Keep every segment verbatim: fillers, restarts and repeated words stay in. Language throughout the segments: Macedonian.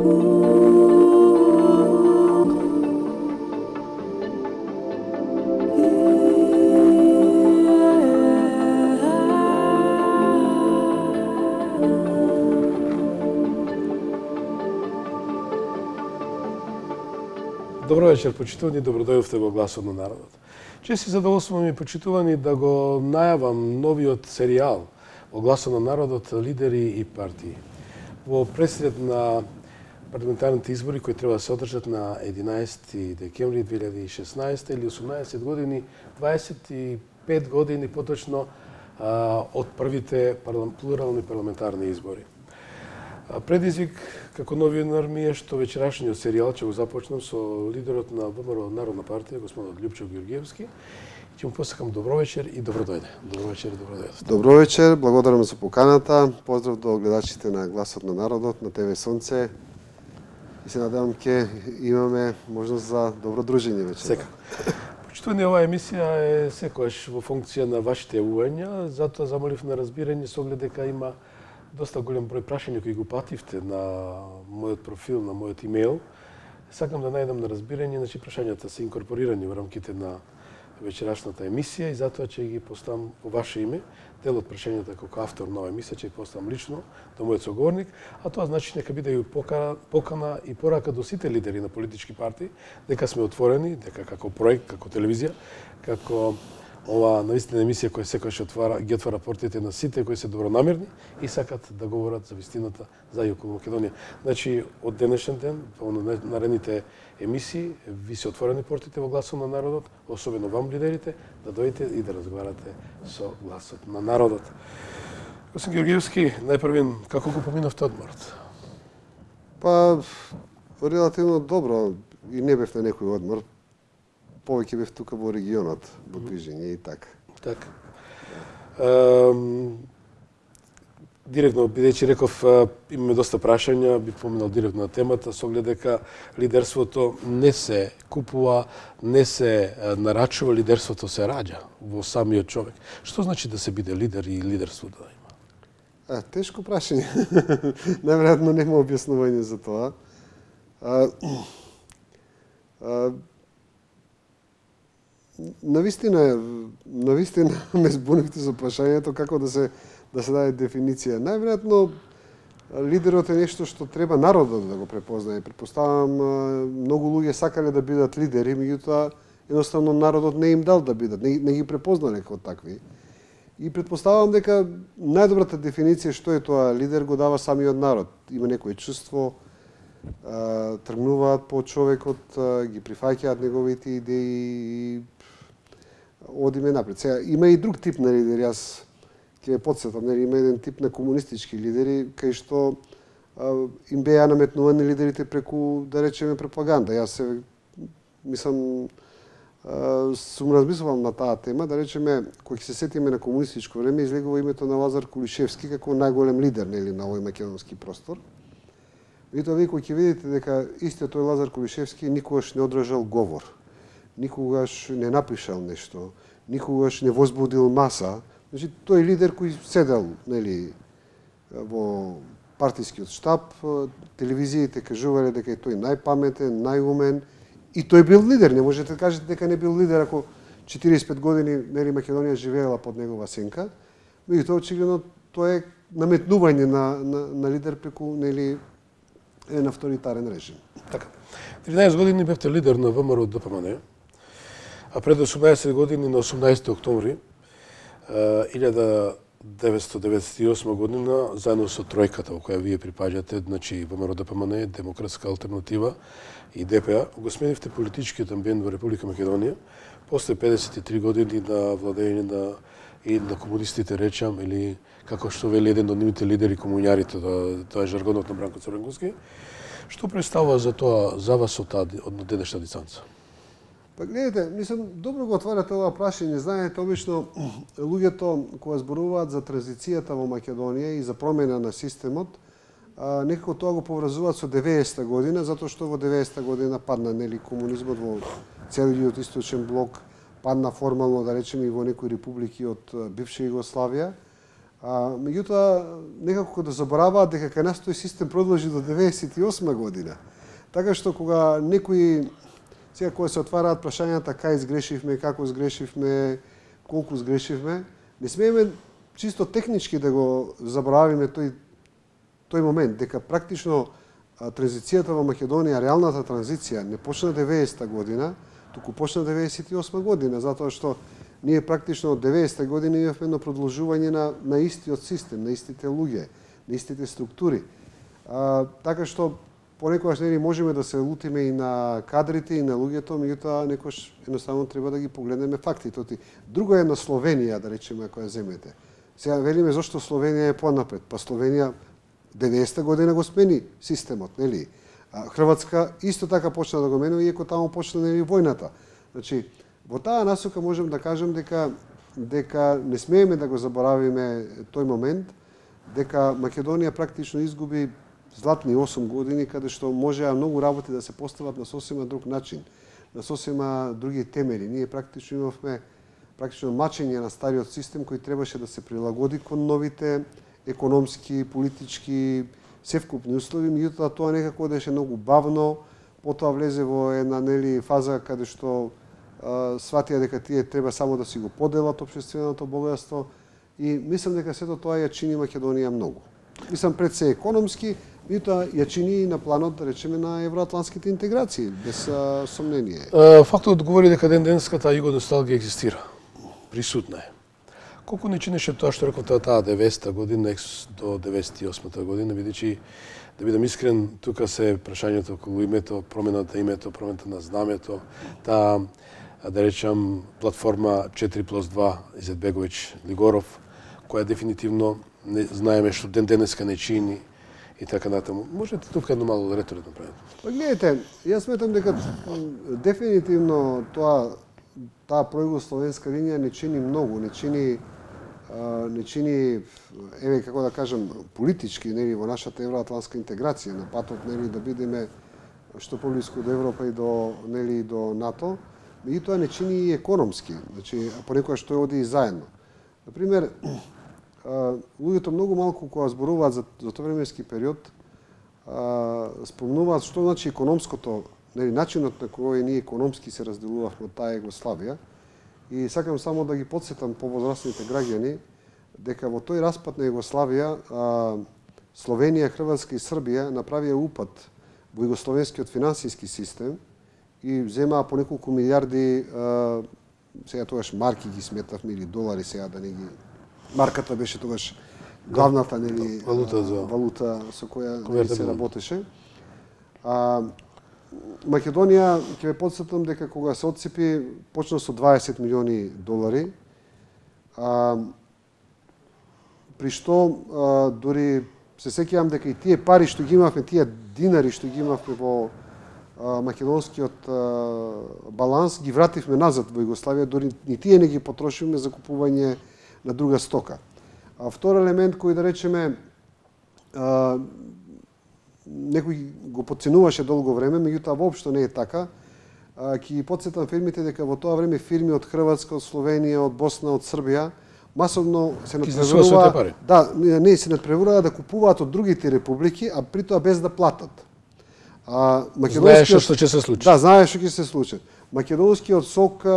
Добро вечер, почитувани, добродојдовте во Гласот на народот. Чест и задоволство ми почитувани да го најавам новиот серијал во Гласот на народот, лидери и партии. Во пресред на парламентарните избори кои треба да се одржат на единаесети декември две илјади и шеснаесета или осумнаесет години, дваесет и пет години поточно од првите плурални парламентарни избори. Предизвик како новинар ми е што вечерашниот серијал ќе го започнам со лидерот на ВМРО Народна партија, господинот Љупчо Ѓорѓевски. Ќе му посакам добро вечер и добро дојде. Добро вечер и добро дојде. Добро вечер, благодарам за поканата. Поздрав до гледачите на Гласот на народот на ТВ Сонце. И се надевам ќе имаме можност за добро дружење вечер. Секако. Почитувани, оваа емисија е секогаш во функција на вашите јавувања, затоа замолив на разбирање со оглед дека има доста голем број прашања кои го пативте на мојот профил, на мојот имејл. Сакам да најдам на разбирање, значи прашањата се инкорпорирани во рамките на вечерашната емисија и затоа ќе ги поставам по ваше име. Дел од прашањата како автор на оваа емисија ќе ги поставам лично до мојот соговорник, а тоа значи нека биде и покана и порака до сите лидери на политички партии дека сме отворени, дека како проект, како телевизија, како ова навистина емисија која секогаш отвара, ги отвара портите на сите кои се добронамерни и сакат да говорат за вистината за и околу Македонија. Значи, од денешен ден, во наредните емисии, ви се отворени портите во Гласот на народот, особено вам лидерите, да дојдете и да разговарате со Гласот на народот. Господин Ѓорѓевски, најпрвен, како го поминавте одморот? Па, релативно добро, и не бев на некој одмор. Повеќе бев тука во регионот, во движење и така. Така. Ehm, директно, бидејќи реков, имаме доста прашања, би поминал директно на темата, со оглед дека лидерството не се купува, не се нарачува, лидерството се раѓа во самиот човек. Што значи да се биде лидер и лидерство да има? А, тешко прашање. Најверојатно нема објаснување за тоа. А, а, Навистина, навистина ме збунивте со прашањето како да се да се даде дефиниција. Најверојатно лидерот е нешто што треба народот да го препознае. Претпоставам многу луѓе сакале да бидат лидери, меѓутоа едноставно народот не им дал да бидат, не, не ги препознале како такви. И претпоставам дека најдобрата дефиниција што е тоа лидер го дава самиот народ. Има некое чувство, тргнуваат по човекот, ги прифаќаат неговите идеи и одиме напред. Сега, има и друг тип на лидери, јас ќе ве потсетам, нели, има еден тип на комунистички лидери, кај што а, им беа наметнувани лидерите преку, да речеме, пропаганда. Јас се, мислам, а, сум размислувал на таа тема, да речеме, кој ќе се сетиме на комунистичко време, излегува името на Лазар Кулишевски како најголем лидер, нели, на овој македонски простор. Меѓутоа, вие кој ќе видите дека истиот тој Лазар Кулишевски никогаш не одржал говор, никогаш не напишал нешто, никогаш не возбудил маса. Значи, тој лидер кој седел, нели, во партискиот штаб, телевизиите кажувале дека е тој најпаметен, најумен, и тој бил лидер. Не можете да кажете дека не бил лидер ако четириесет и пет години, нели, Македонија живеела под негова сенка. Меѓутоа, очигледно, тоа е наметнување на, на, на лидер преку, нели, еден авторитарен режим. Така. тринаесет години бевте лидер на ВМРО ДПМН, а пред осумнаесет години, на осумнаесети октомври илјада деветстотини деветдесет и осма година, заедно со тројката во која вие припаѓате, значи ВМРО ДПМН, Демократска алтернатива и ДПА, го сменивте политичкиот амбиент во Република Македонија, после педесет и три години на владење на и на комунистите, речам, или како што вели еден од нивните лидери, комуњарите, тоа е жаргонот на Бранко Црвенгуски. Што представува за тоа, за вас од таа од денешна дистанца? Па гледате, мислам, добро го отварате ова прашање. Знаете, обично луѓето кога зборуваат за транзицијата во Македонија и за промена на системот, а, некако тоа го поврзуваат со деветдесета година, затоа што во деветдесета година падна, нели, комунизмот во целиот источен блок, падна формално, да речеме, и во некои републики од бивша Југославија. А, меѓутоа, некако да забораваат дека кај нас тој систем продолжи до деветдесет и осма година. Така што кога некои, сега кога се отвараат прашањата кај сгрешивме, како сгрешивме, колку сгрешивме, не смееме чисто технички да го заборавиме тој, тој момент, дека практично а, транзицијата во Македонија, реалната транзиција, не почна деветдесета година, туку почна деветдесет и осма година, затоа што ние практично од деветдесета година имавме едно продолжување на, на истиот систем, на истите луѓе, на истите структури. А, така што понекогаш нели можеме да се лутиме и на кадрите и на луѓето, меѓутоа некош едноставно треба да ги погледнеме фактите. Друго е на Словенија, да речеме, ако ја земете. Сега велиме зошто Словенија е понапред. Па Словенија деветдесета година го смени системот, нели? А Хрватска исто така почна да го менува, иако таму почна нели војната. Значи, во таа насока можем да кажем дека дека не смееме да го заборавиме тој момент, дека Македонија практично изгуби златни осум години, каде што можеа многу работи да се постават на сосема друг начин, на сосема други темели. Ние практично имавме практично мачење на стариот систем кој требаше да се прилагоди кон новите економски, политички, севкупни услови, меѓутоа тоа некако одеше многу бавно, потоа влезе во една нели фаза каде што а, сватија дека тие треба само да си го поделат општественото богатство и мислам дека сето тоа ја чини Македонија многу. Мислам пред се економски, меѓутоа ја чини и на планот, да речеме, на евроатлантските интеграции, без а, сомнение. Фактот говори дека ден денската југоносталгија екзистира. Присутна е. Колку не чинеше тоа што реков таа деветдесета година до деветдесет и осмата година, бидејќи, да бидам искрен, тука се прашањето околу името, промената името, промената на знамето, таа, да речам, платформа четири плюс два Изетбеговиќ Лигоров, која дефинитивно не знаеме што ден денеска не чини и така натаму. Можете тука едно мало ретро да направите? Па гледайте, јас сметам дека дефинитивно тоа таа пројугословенска линија не чини многу, не чини не чини, еве како да кажам, политички, нели, во нашата евроатлантска интеграција, на патот, нели, да бидеме што поблиску до Европа и до, нели, до НАТО, меѓутоа не чини и економски, значи понекогаш тој оди и заедно. Например, луѓето многу малку кога зборуваат за, за тој временски период, спомнуваат што значи економското, нели, начинот на кој ние економски се разделувавме од таа Југославија. И сакам само да ги подсетам повозрастните граѓани дека во тој распад на Југославија Словенија, Хрватска и Србија направија упад во југословенскиот финансиски систем и земаа по неколку милиарди, сега тогаш марки ги сметавме или долари, сега да не ги... Марката беше тогаш главната, нели, валута, за... валута со која нели, се работеше. А, Македонија, ќе ве подсетам дека кога се отцепи, почна со дваесет милиони долари, а, при што а, дури се сеќавам дека и тие пари што ги имавме, тие динари што ги имавме во а, македонскиот а, баланс, ги вративме назад во Југославија, дури ни тие не ги потрошивме за купување на друга стока. А втор елемент кој, да речеме, а, некој го подценуваше долго време, меѓутоа воопшто не е така. Ќе ги подсетам фирмите дека во тоа време фирми од Хрватска, од Словенија, од Босна, од Србија масовно се надпреваруваат, да, не се надпреваруваат да купуваат од другите републики, а при тоа без да платат. А македонскиот што ќе се случи. Да, знаеш што ќе се случи. Македонскиот сок,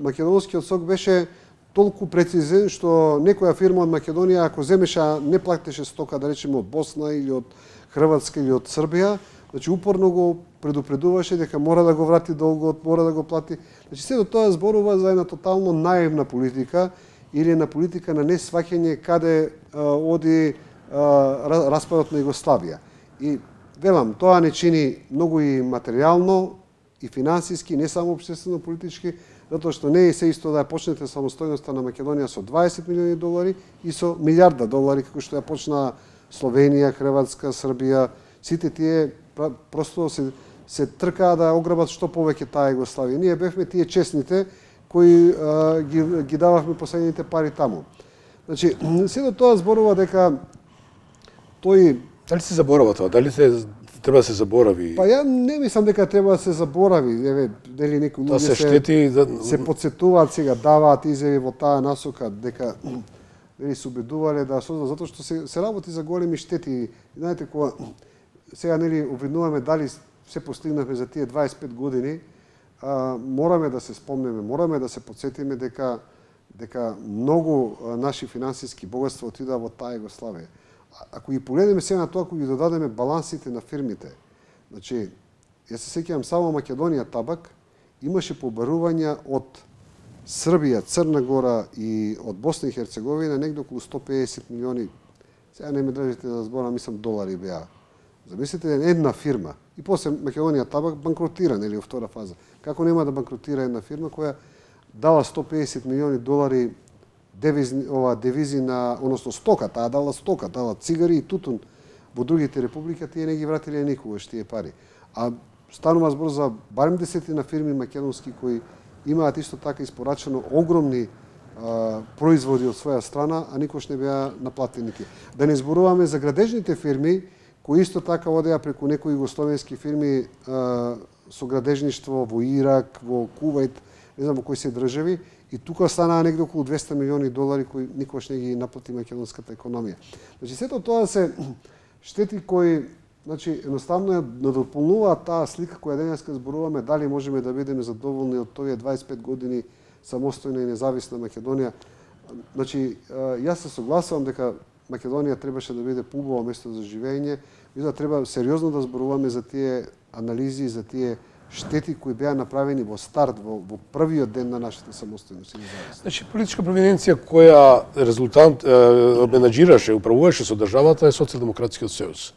македонскиот сок беше толку прецизен што некоја фирма од Македонија ако земеше не платеше стока, да речеме од Босна или од Хрватска или од Србија, значи упорно го предупредуваше дека мора да го врати долгот, мора да го плати. Значи сето тоа зборува за една тотално наивна политика или една политика на несваќање каде а, оди а, распадот на Југославија. И велам, тоа не чини многу и материјално, и финансиски, не само општествено политички, затоа што не е се исто да ја почнете самостојноста на Македонија со дваесет милиони долари и со милиарда долари, како што ја почна Словенија, Хрватска, Србија, сите тие просто се, се тркаа да ограбат што повеќе таа Југославија. Ние бевме тие честните кои а, ги, ги дававме последните пари таму. Значи, сето тоа зборува дека тој... Дали се заборава тоа? Дали се треба да се заборави? Па ја не мислам дека треба да се заборави. Еве, дали некои луѓе се, штети, се, да... се подсетуваат сега, даваат изјави во таа насока дека нели се убедувале да создадат, затоа што се, се работи за големи штети. Знаете, кога сега нели обвинуваме дали се постигнахме за тие дваесет и пет години, а, мораме да се спомнеме, мораме да се потсетиме дека дека многу а, наши финансиски богатства отидаа во таа Југославија. Ако ги погледнеме сега на тоа, ако ги додадеме балансите на фирмите, значи, јас се сеќавам само Македонија Табак имаше побарувања од Србија, Црна Гора и од Босна и Херцеговина негде околу сто педесет милиони, сега не ме држите да зборам, мислам долари беа. Замислите една фирма и после Македонија Табак банкротира, нели, во втора фаза. Како нема да банкротира една фирма која дала сто педесет милиони долари девизи, ова девизи на, односно стока, таа дала стока, дала цигари и тутун во другите републики, тие не ги вратиле никогаш тие пари. А станува збор за барем десетина фирми македонски кои имаат исто така испорачено огромни а, производи од своја страна, а никош не беа наплатени тие. Да не зборуваме за градежните фирми кои исто така одеа преку некои југословенски фирми а, со градежништво во Ирак, во Кувајт, не знам во кои се држави, и тука станаа негде околу двесте милиони долари кои никош не ги наплати македонската економија. Значи сето тоа се штети кои, значи едноставно ја надополнуваат таа слика која денеска зборуваме дали можеме да бидеме задоволни од тие дваесет и пет години самостојна и независна Македонија. Значи јас се согласувам дека Македонија требаше да биде поубаво место за живење, мислам да треба сериозно да зборуваме за тие анализи, за тие штети кои беа направени во старт, во, во првиот ден на нашата самостојност и независност. Значи, политичка провиненција која резултант е, менаџираше, управуваше со државата е Социјалдемократскиот сојуз.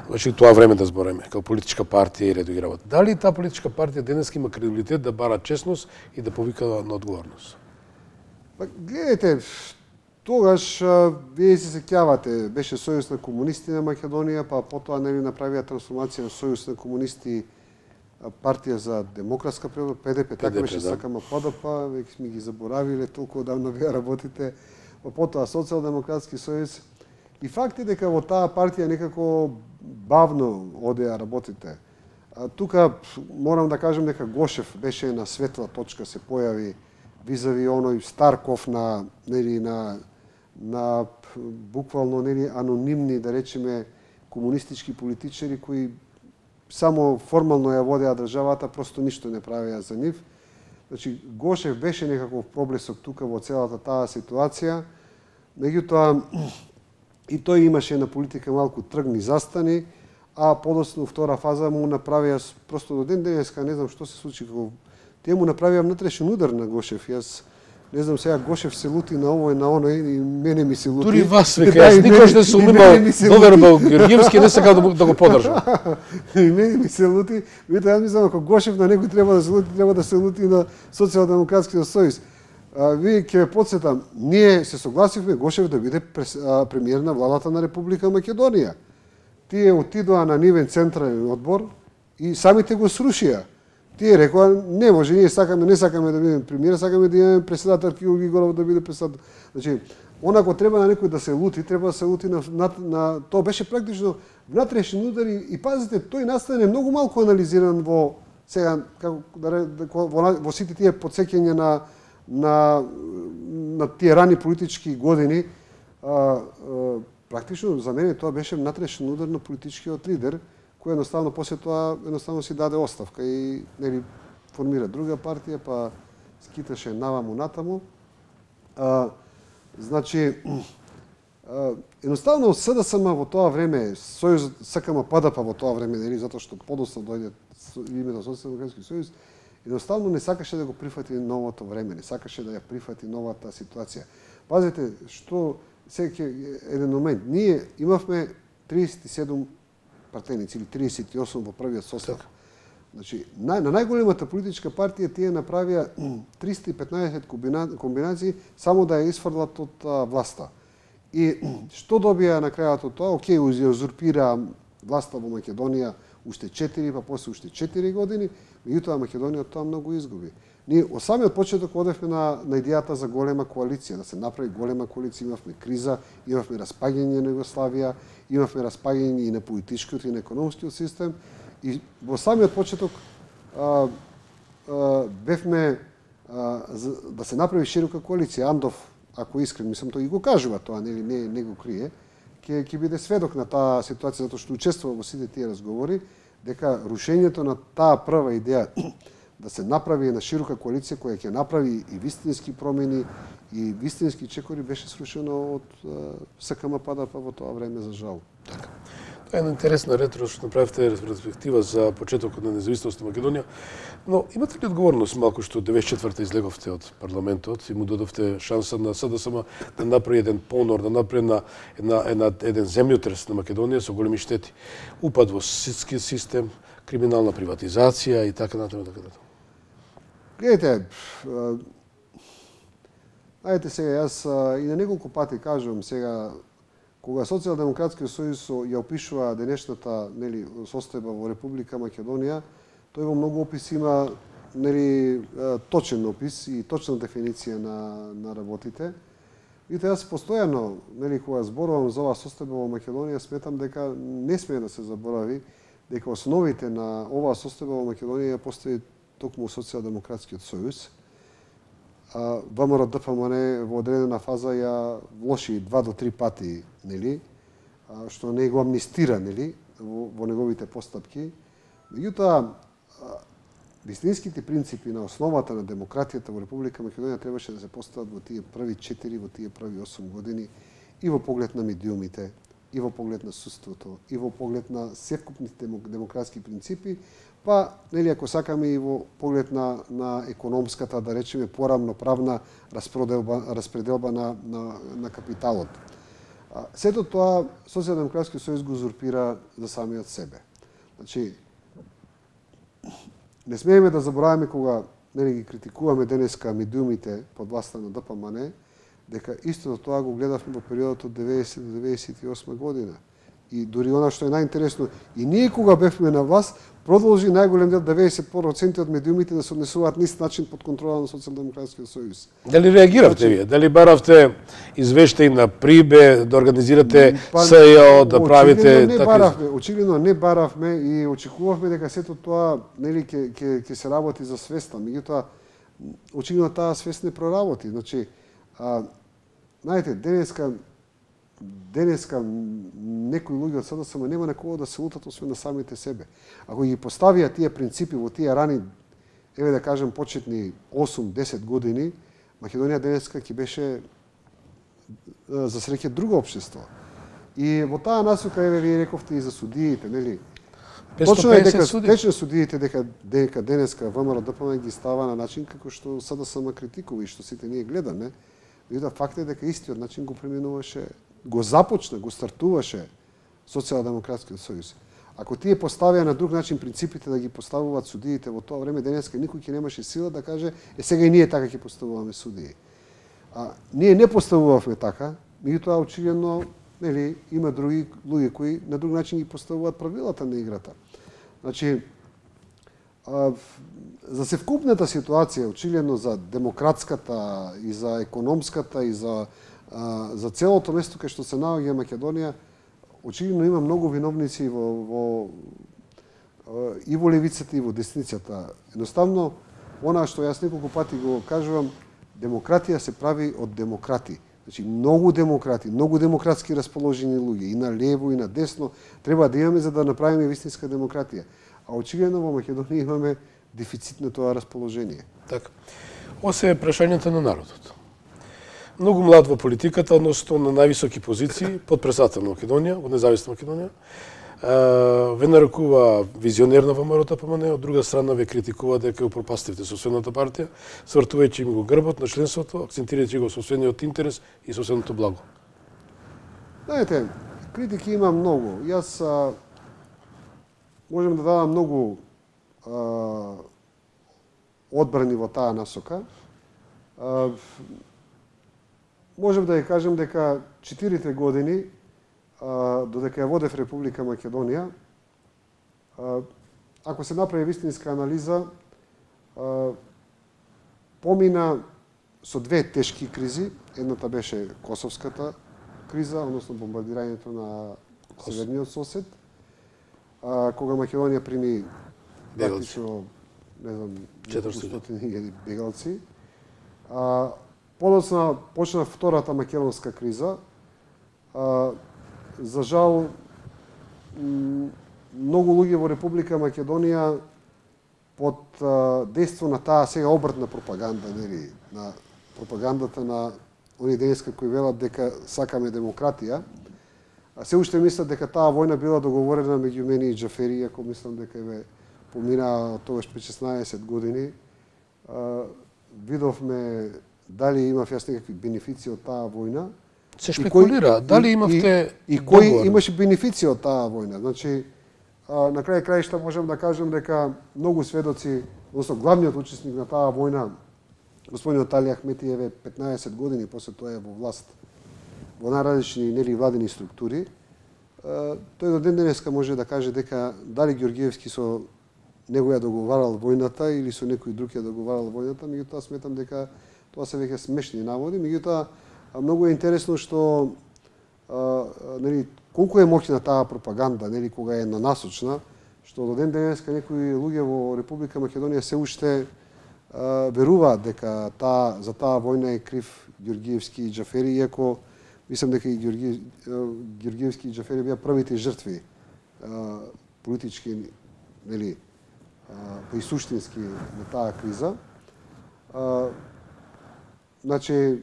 Значи, тоа време да збореме, како политичка партија и редови работа. Дали таа политичка партија денеска има кредибилитет да бара честност и да повика на одговорност? Па, гледайте, тогаш вие се сеќавате, беше Сојуз на комунисти на Македонија, па потоа нели направија трансформација на Сојуз на комунисти партија за демократска превод, Пе Де Пе, така беше да. сакама ПДП, веќе сме ги заборавиле, толку одамна вие работите, па потоа Социјалдемократски сојуз. И факт е дека во таа партија некако бавно одеа работите. А, тука морам да кажем дека Гошев беше на светла точка, се појави визави оној Старков на нели на на буквално нели анонимни, да речеме, комунистички политичари кои само формално ја водеа државата, просто ништо не правеа за нив. Значи, Гошев беше некаков проблесок тука во целата таа ситуација, меѓутоа и тој имаше на политика малку тргни застани, а подоцна втора фаза му направија, просто до ден денеска, не знам што се случи, како тие му направија внатрешен удар на Гошев. Јас не знам сега Гошев се лути на овој, на оној, и мене ми се лути. Дури вас, века, јас никош не сум имал доверба Георгиевски, не сакам да, да го поддржам. И мене ми се лути, видите, јас мислам, ако Гошев на некој треба да се лути, треба да се лути на Социјалдемократскиот сојуз. А, ви ќе ве потсетам, ние се согласивме Гошев да биде прес, а, премиер на владата на Република Македонија. Тие отидоа на нивен централен одбор и самите го срушија. Тие рекоа, не може, ние сакаме, не сакаме да бидеме премиер, сакаме да имаме председател Кирил Григоров да биде председател. Значи, онако треба на некој да се лути, треба да се лути на, на, на тоа беше практично внатрешен удар и, и пазите, тој настане многу малку анализиран во сега како да, во, во сите тие потсеќања на на на тие рани политички години. А, а, практично за мене тоа беше внатрешен удар на политичкиот лидер, кој едноставно после тоа едноставно си даде оставка и нели формира друга партија, па скиташе наваму натаму. А, значи а, едноставно СДСМ во тоа време, Сојуз СКМ ПДП во тоа време, нели затоа што подоцна дојде името Социјалдемократски сојуз, едноставно не сакаше да го прифати новото време, не сакаше да ја прифати новата ситуација. Пазите, што секој еден момент, ние имавме триесет и седум партеници или триесет и осум во првиот состав. Значи, на, на најголемата политичка партија тие направија триста и петнаесет комбинации само да ја исфрлат од а, власта. И што добија на крајот од тоа? Океј, узурпира власта во Македонија уште четири, па после уште четири години, меѓутоа Македонија тоа многу изгуби. Ние од самиот почеток одевме на, на идејата за голема коалиција, да се направи голема коалиција, имавме криза, имавме распаѓање на Југославија, имавме распаѓање и на политичкиот и на економскиот систем, и во самиот почеток а, а, бевме а, за, да се направи широка коалиција. Андов ако искрен, мислам, тој и го кажува тоа, нели, не, не го крие, ќе ќе биде сведок на таа ситуација, затоа што учествува во сите тие разговори, дека рушењето на таа прва идеја да се направи една широка коалиција која ќе направи и вистински промени и вистински чекори беше срушено од СКМ-ПДП во тоа време, за жал. Така. Тоа е една интересна ретро што направивте ретроспектива за почетокот на независност на Македонија, но имате ли одговорност малку што деветдесет и четврта излеговте од парламентот и му дадовте шанса на СДСМ да направи еден понор, да направи една, една, една, еден земјотрес на Македонија со големи штети, упад во ситски систем, криминална приватизација и така натаму, така натаму. Гледайте, ајде сега, јас и на неколку пати кажувам сега, кога Социјалдемократскиот сојуз ја опишува денешната, нели, состојба во Република Македонија, тој во многу описи има, нели, точен опис и точна дефиниција на на работите. Видите, јас постојано, нели, кога зборувам за оваа состојба во Македонија, сметам дека не смее да се заборави дека основите на оваа состојба во Македонија ја постави токму Социјалдемократскиот сојуз. ВМРО-ДПМН во одредена фаза ја влоши два до три пати, нели, што не го амнистира, нели, во, во неговите постапки. Меѓутоа, вистинските принципи на основата на демократијата во Република Македонија требаше да се постават во тие први четири, во тие први осум години и во поглед на медиумите, и во поглед на судството, и во поглед на севкупните демократски принципи, па, нели, ако сакаме и во поглед на, на економската, да речеме, порамноправна распределба, распределба на, на, на капиталот. Сето тоа Социјалдемократскиот сојуз го узурпира за самиот себе. Значи, не смееме да забораваме кога, нели, ги критикуваме денеска медиумите под власта на ДПМН, дека истото тоа го гледавме во периодот од деветдесет до деветдесет и осма година. И дури она што е најинтересно, и ние кога бевме на власт, продолжи најголем дел деветдесет проценти од медиумите да се однесуваат на ист начин под контрола на Социјалдемократскиот сојуз. Дали реагиравте вие? Дали баравте извештаи на Прибе, да организирате па, СЈО, да правите не такви? Баравме, очигледно не баравме и очекувавме дека сето тоа, нели, ќе ќе ќе се работи за свеста, меѓутоа очигледно таа свест не проработи. Значи, а, знаете, денеска денеска некои луѓе од СДСМ нема на кого да се лутат освен на самите себе. Ако ги поставија тие принципи во тие рани, еве да кажем, почетни осум-десет години, Македонија денеска ќе беше за среќа друго општество. И во таа насока, еве, вие рековте и за судиите, нели? Точно е дека тече судиите дека дека денеска ВМРО-ДПМН ги става на начин како што СДСМ критикува и што сите ние гледаме. Меѓутоа факт е дека истиот начин го преминуваше, го започна, го стартуваше Социјалдемократскиот сојуз. Ако тие поставија на друг начин принципите да ги поставуваат судиите во тоа време, денеска никој ќе немаше сила да каже е сега и ние така ќе поставуваме судии. А ние не поставувавме така, меѓутоа очигледно, нели, има други луѓе кои на друг начин ги поставуваат правилата на играта. Значи, а, за севкупната ситуација, очигледно за демократската и за економската и за а, за целото место кај што се наоѓа Македонија, очигледно има многу виновници во, во и во левицата и во десницата. Едноставно, она што јас неколку пати го кажувам, демократија се прави од демократи. Значи, многу демократи, многу демократски расположени луѓе, и на лево, и на десно, треба да имаме за да направиме вистинска демократија. А очигледно во Македонија имаме дефицит на тоа расположение. Така. Ова се прашањето на народот. Многу млад во политиката, односно на највисоки позиции, подпредседател на Македонија, во независна Македонија, ве нарекува визионер на ВМРО-ДПМН, од друга страна ве критикува дека упропастивте соседната партија, свртувајќи им го грбот на членството, акцентирајќи го соседниот интерес и соседното благо. Знаете, критики има многу. Јас а, можем да дадам многу а, одбрани во таа насока. А, можем да ја кажем дека четирите години додека ја водев Република Македонија, ако се направи вистинска анализа, помина со две тешки кризи. Едната беше Косовската криза, односно бомбардирањето на северниот сосед, кога Македонија прими практично, не знам, четиристотини бегалци. подоцна почна втората македонска криза. А, за жал, многу луѓе во Република Македонија под а, дејство на таа сега обртна пропаганда, нели, на пропагандата на оние денеска кои велат дека сакаме демократија, а се уште мислат дека таа војна била договорена меѓу мене и Џафери, иако мислам дека ве помина тогаш пред шеснаесет години. А, видовме дали имав јас некакви бенефиции од таа војна. Се шпекулира, кој, дали имавте и, и, и кој имаше бенефиции од таа војна. Значи, а, на крај краишта можам да кажам дека многу сведоци, односно главниот учесник на таа војна, господинот Али Ахметиев е петнаесет години после тоа е во власт во најразлични нели владени структури. А, тој до ден денеска може да каже дека дали Ѓорѓиевски со него ја договарал војната или со некој друг ја договарал војната, меѓутоа сметам дека тоа се веќе смешни наводи, меѓутоа многу е интересно што а, нели колку е моќна таа пропаганда, нели кога е нанасочна, што до ден денеска некои луѓе во Република Македонија се уште а, веруваат дека таа за таа војна е крив Ѓорѓиевски и Џафери, иако мислам дека и Ѓорѓи, Ѓорѓиевски и Џафери беа првите жртви а, политички, нели, па и суштински на таа криза. А, значи,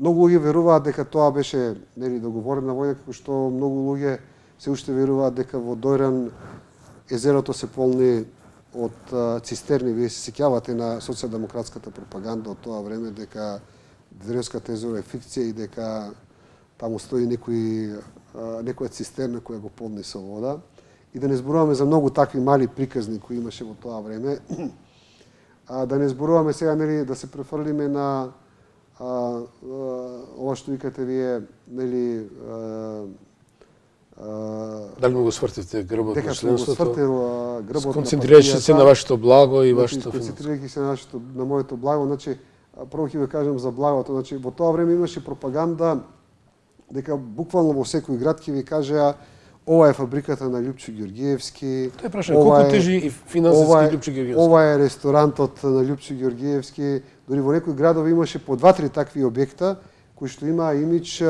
многу луѓе веруваат дека тоа беше нели договорена војна, како што многу луѓе се уште веруваат дека во Дојран езерото се полни од а, цистерни. Вие се сеќавате на социјалдемократската пропаганда од тоа време дека Древската езеро е фикција и дека таму стои некој а, некоја цистерна која го полни со вода. И да не зборуваме за многу такви мали приказни кои имаше во тоа време. А да не зборуваме сега нели да се префрлиме на а, а, ова што викате вие, нели а, а, дали му го свртите грбот на членството? Свртил грбот, сконцентрирајќи се на вашето благо и вашето сконцентрирајќи се на нашето на моето благо, значи прво ќе ви кажам за благото, значи во тоа време имаше пропаганда дека буквално во секој град ќе ви кажеа ова е фабриката на Љупчо Ѓорѓиевски. Тој прашање колку тежи и финансиски Љупчо Ѓорѓиевски. Ова е ресторантот на Љупчо Ѓорѓиевски. Дори во некои градови имаше по два-три такви објекта кои што имаа имидж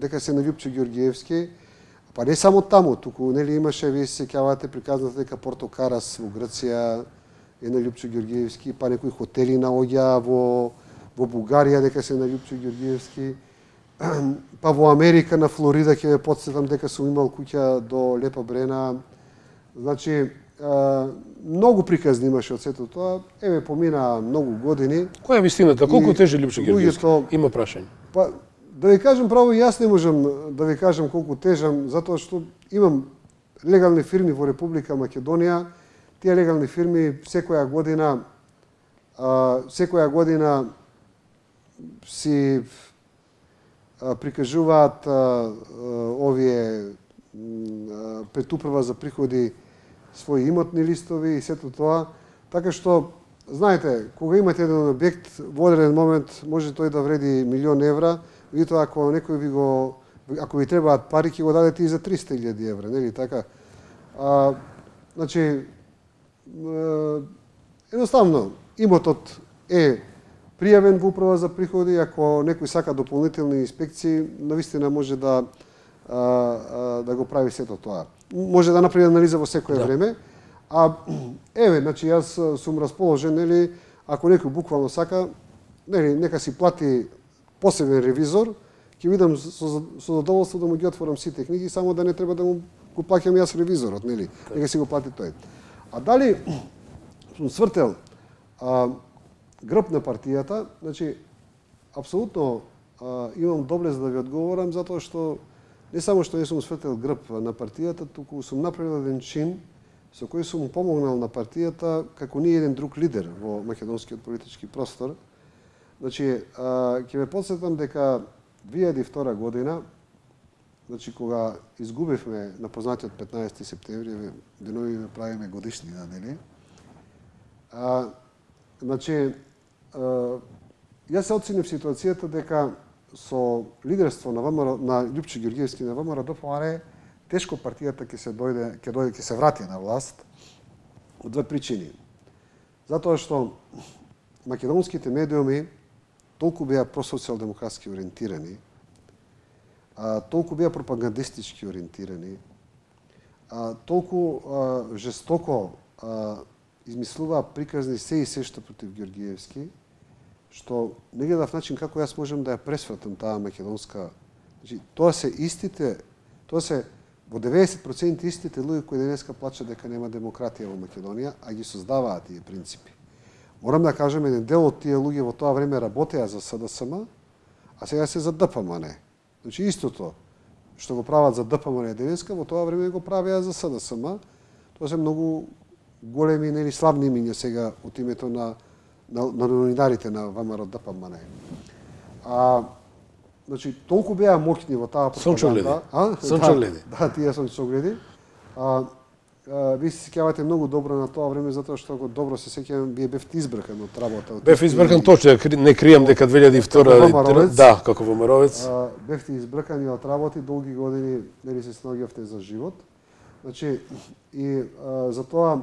дека се на Љупчо Ѓорѓиевски. Па не само таму, туку нели имаше, вие се сеќавате приказната дека Порто Карас во Грција е на Љупчо Ѓорѓиевски, па некои хотели наоѓа во во Бугарија дека се на Љупчо Ѓорѓиевски. Па во Америка, на Флорида, ќе ве потсетам дека сум имал куќа до Лепа Брена. Значи, а, многу приказни имаше од сето тоа. Еве, помина многу години. Која е вистината? Колку тежи Љупчо Ѓорѓиевски? Има прашање. Па, да ви кажам право, јас не можам да ви кажам колку тежам, затоа што имам легални фирми во Република Македонија. Тие легални фирми секоја година, а, секоја година си прикажуваат а, овие а, пред управа за приходи своји имотни листови и сето тоа. Така што, знаете, кога имате еден објект, во одреден момент може тој да вреди милион евра, меѓутоа ако некој ви го, ако ви требаат пари, ќе го дадете и за триста илјади евра, нели така? А, значи, а, едноставно, имотот е пријавен во управа за приходи, ако некој сака дополнителни инспекции, навистина може да а, а, да го прави сето тоа. Може да направи анализа во секое да. време. А еве, значи јас сум расположен, нели, ако некој буквално сака, нели, нека си плати посебен ревизор, ќе видам со, со задоволство да му ги отворам сите книги, само да не треба да му го плаќам јас ревизорот, нели? Нека си го плати тој. А дали сум свртел а, грб на партијата, значи, апсолутно а, имам доблест да ви одговорам, затоа што не само што не сум свртел грб на партијата, туку сум направил еден чин со кој сум помогнал на партијата како ни еден друг лидер во македонскиот политички простор. Значи, а, ќе ве потсетам дека две илјади и втора година, значи кога изгубивме на познатиот петнаесети септември, денови ве правиме годишнина, нели? А, значи, а, јас се оценив ситуацијата дека со лидерство на ВМРО, на Љупчо Ѓорѓиевски на ВМРО ДПМН, тешко партијата ќе се дојде, ќе дојде, ќе се врати на власт од две причини. Затоа што македонските медиуми толку беа просоцијалдемократски ориентирани, а, толку беа пропагандистички ориентирани, а, толку а, жестоко а, измислуваа приказни се и се што против Георгиевски, што не гледав начин како јас можам да ја пресвратам таа македонска. Значи, тоа се истите, тоа се во деветдесет проценти истите луѓе кои денеска плачат дека нема демократија во Македонија, а ги создаваат тие принципи. Морам да кажем, еден дел од тие луѓе во тоа време работеа за СДСМ, а сега се за ДПМН. Значи, истото што го прават за ДПМН денеска, во тоа време го правеа за СДСМ. Тоа се многу големи, нели, славни имиња сега од името на на, на новинарите на ВМРО ДПМН. А, значи, толку беа моќни во таа пропаганда. А? Сончогледи. Да, да, тие сончогледи. А, а, ви се сеќавате многу добро на тоа време, затоа што го добро се сеќавам, вие бевте избркан од работа. Бев избркан точно, не кријам дека две илјади и втора да, како ВМРО-вец. Бевте избркани од работи, долги години нели се снаоѓавте за живот. Значи, и а, за тоа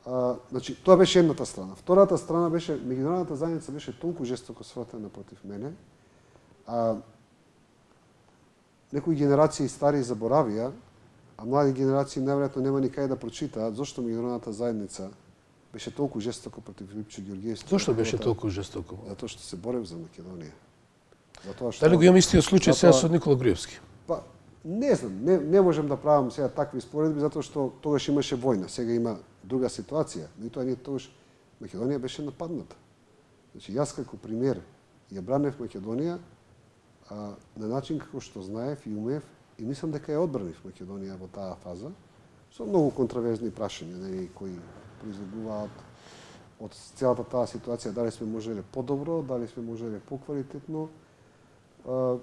А, значи, тоа беше едната страна. Втората страна беше, меѓународната заедница беше толку жестоко сватена против мене, а некои генерации стари заборавија, а млади генерации најверојатно нема ни кај да прочитаат зошто меѓународната заедница беше толку жестоко против Липчо Георгиевски. Зошто беше толку жестоко? Затоа што се борев за Македонија. Затоа што Дали го имам истиот случај сега со Никола Груевски? Па, не знам, не, не можам да правам сега такви споредби, затоа што тогаш имаше војна, сега има друга ситуација. Меѓутоа ние тогаш Македонија беше нападната. Значи јас како премиер ја бранев Македонија а, на начин како што знаев и умеев и мислам дека ја одбранив Македонија во таа фаза со многу контроверзни прашања, нели, кои произлегуваат од целата таа ситуација, дали сме можеле подобро, дали сме можеле поквалитетно. А,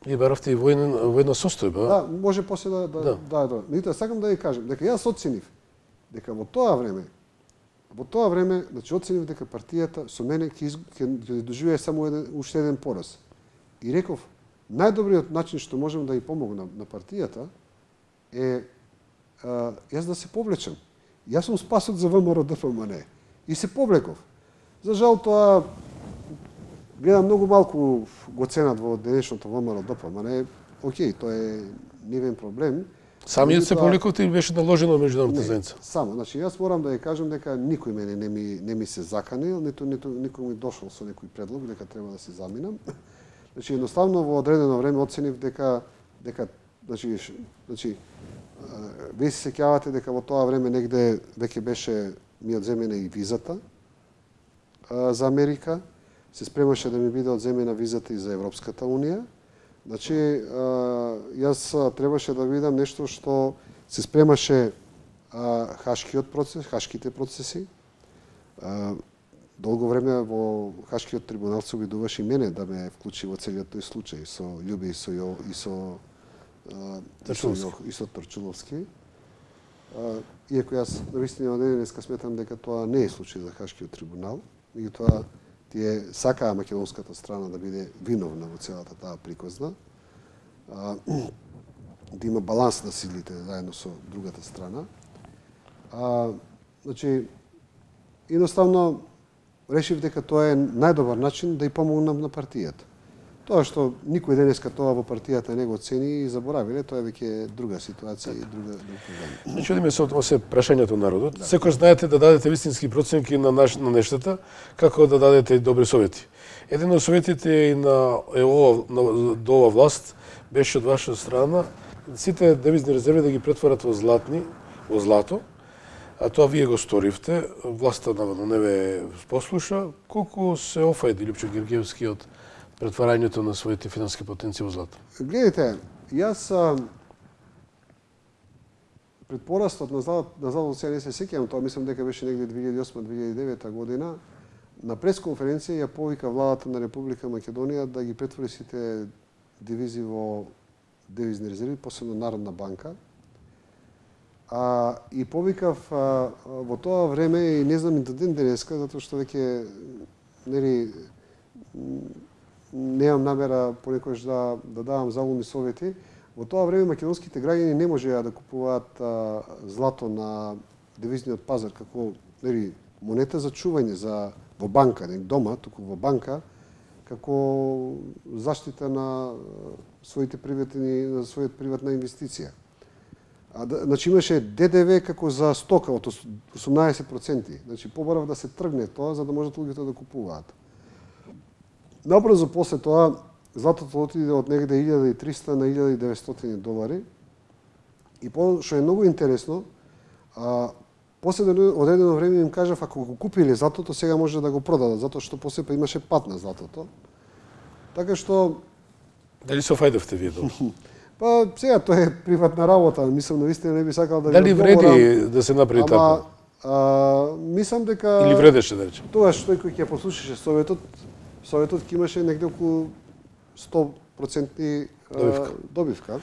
И баравте и војна, војна состојба. Да, може после да да да. да, да. Меѓутоа сакам да ви кажам дека јас оценив дека во тоа време во тоа време, значи оценив дека партијата со мене ќе ќе доживее само еден уште еден пораз. И реков најдобриот начин што можам да ја помогнам на партијата е а, јас да се повлечам. Јас сум спасот за ВМРО ДПМН и се повлеков. За жал тоа гледам многу малку го ценат во денешното ВМРО ДПМН. Океј, тоа е нивен проблем. Самиот се повлековте или беше наложено меѓународната заедница? Само, значи јас морам да ја кажам дека никој мене не ми не ми се заканил, ниту ниту никој ми дошол со некој предлог дека треба да се заминам. Значи едноставно во одредено време оценив дека дека значи значи вие се сеќавате дека во тоа време негде веќе беше ми одземена и визата а, за Америка, се спремаше да ми биде одземена визата и за Европската унија. Значи, јас требаше да видам нешто што се спремаше хашкиот процес, хашките процеси. Долго време во Хашкиот трибунал се обидуваше и мене да ме вклучи во целиот тој случај со Љубе и со и со Торчуловски. И со Торчуловски. Иако јас навистина денеска сметам дека тоа не е случај за Хашкиот трибунал, меѓутоа тие сакаа македонската страна да биде виновна во целата таа приказна, а, да има баланс на силите заедно со другата страна. А, значи, едноставно решив дека тоа е најдобар начин да ја помогнам на партијата. Тоа што никој денеска тоа во партијата не го цени и заборавиле, тоа е веќе друга ситуација и друга друг проблем. Значи, одиме со тоа се прашањето народот. Да. Секој знаете да дадете вистински проценки на наш, на нештата, како да дадете добри совети. Еден од советите и на е ова на, до ова власт беше од ваша страна сите девизни резерви да ги претворат во златни, во злато. А тоа вие го сторивте, власта наводно не ве послуша. Колку се офајди Липчо Георгиевски од претварањето на своите финански потенции во злато? Гледайте, јас а, пред порастот на златот, на златот сега не се сеќавам, тоа мислам дека беше негде две илјади и осма - две илјади и девета година, на пресконференција ја повика владата на Република Македонија да ги претвори сите дивизии во девизни резерви, посебно Народна банка. А, и повикав а, во тоа време, и не знам и до ден денеска, затоа што веќе нели немам намера понекогаш да, да давам залумни совети. Во тоа време македонските граѓани не можеа да купуваат а, злато на девизниот пазар, како нели монета за чување за во банка, не дома, туку во банка, како заштита на своите приватни на својата приватна инвестиција. А да, значи имаше Д Д В како за стока од осумнаесет проценти. Значи побарав да се тргне тоа за да можат луѓето да купуваат. Набрзо после тоа златото отиде од негде илјада и триста на илјада и деветстотини долари. И по што е многу интересно, а после одредено време им кажав ако го купиле златото сега може да го продадат затоа што после па имаше пат на златото. Така што дали се офајдавте вие долу? Па сега тоа е приватна работа, мислам навистина не би сакал да дали вреди да се направи така? А, мислам дека или вредеше да речем. Тоа што тој кој ќе послушаше советот, советот ќе имаше негде околу сто проценти добивка. добивка.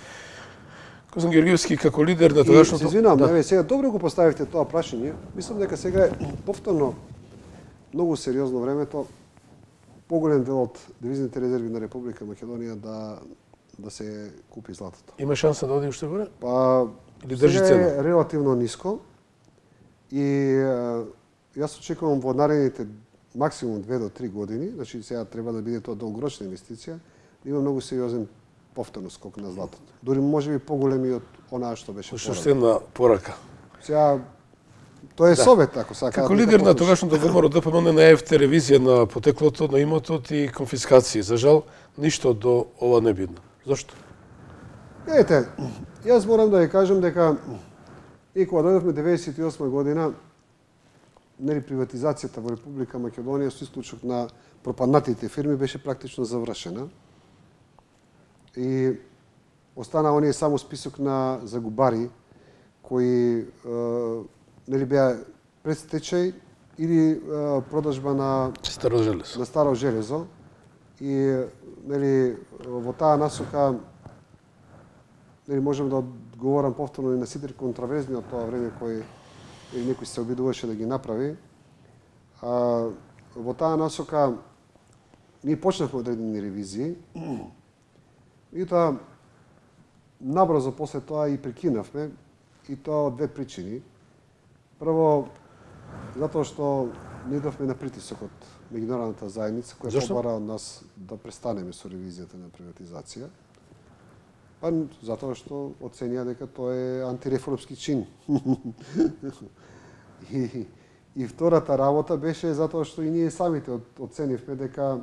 Козан Георгиевски како лидер на тогашното... Се извинувам, да. Сега добро го поставивте тоа прашање. Мислам дека сега е повторно многу сериозно времето поголем дел од девизните резерви на Република Македонија да да се купи златото. Има шанса да оди уште горе? Па или држи цена? цена? Е релативно ниско и јас очекувам во наредните максимум две до три години, значи сега треба да биде тоа долгорочна инвестиција, да има многу сериозен повторно скок на златото. Дури можеби поголеми од онаа што беше порано. Поштена порака. Сега тоа е да. Совет, ако сакаат. Како лидер на тогашното ВМРО Д П М Н најавте ревизија на потеклото на имотот и конфискации. За жал, ништо до ова не видно. Зошто? Ете, јас морам да ја кажам дека и кога дојдовме деветдесет и осма година, нели приватизацијата во Република Македонија со исклучок на пропаднатите фирми беше практично завршена. И остана оние само список на загубари кои е, нели беа предстечај или е, продажба на старо железо. На старо железо. И нели во таа насока нели можам да одговорам повторно и на сите контраверзни од тоа време кои или некој се обидуваше да ги направи. А, во таа насока ние почнавме одредени ревизии и тоа набрзо после тоа и прекинавме и тоа од две причини. Прво, затоа што не идовме на притисок од меѓународната заедница, која побара од нас да престанеме со ревизијата на приватизација. Па затоа што оценија дека тоа е антиреформски чин. и, и втората работа беше затоа што и ние самите оценивме дека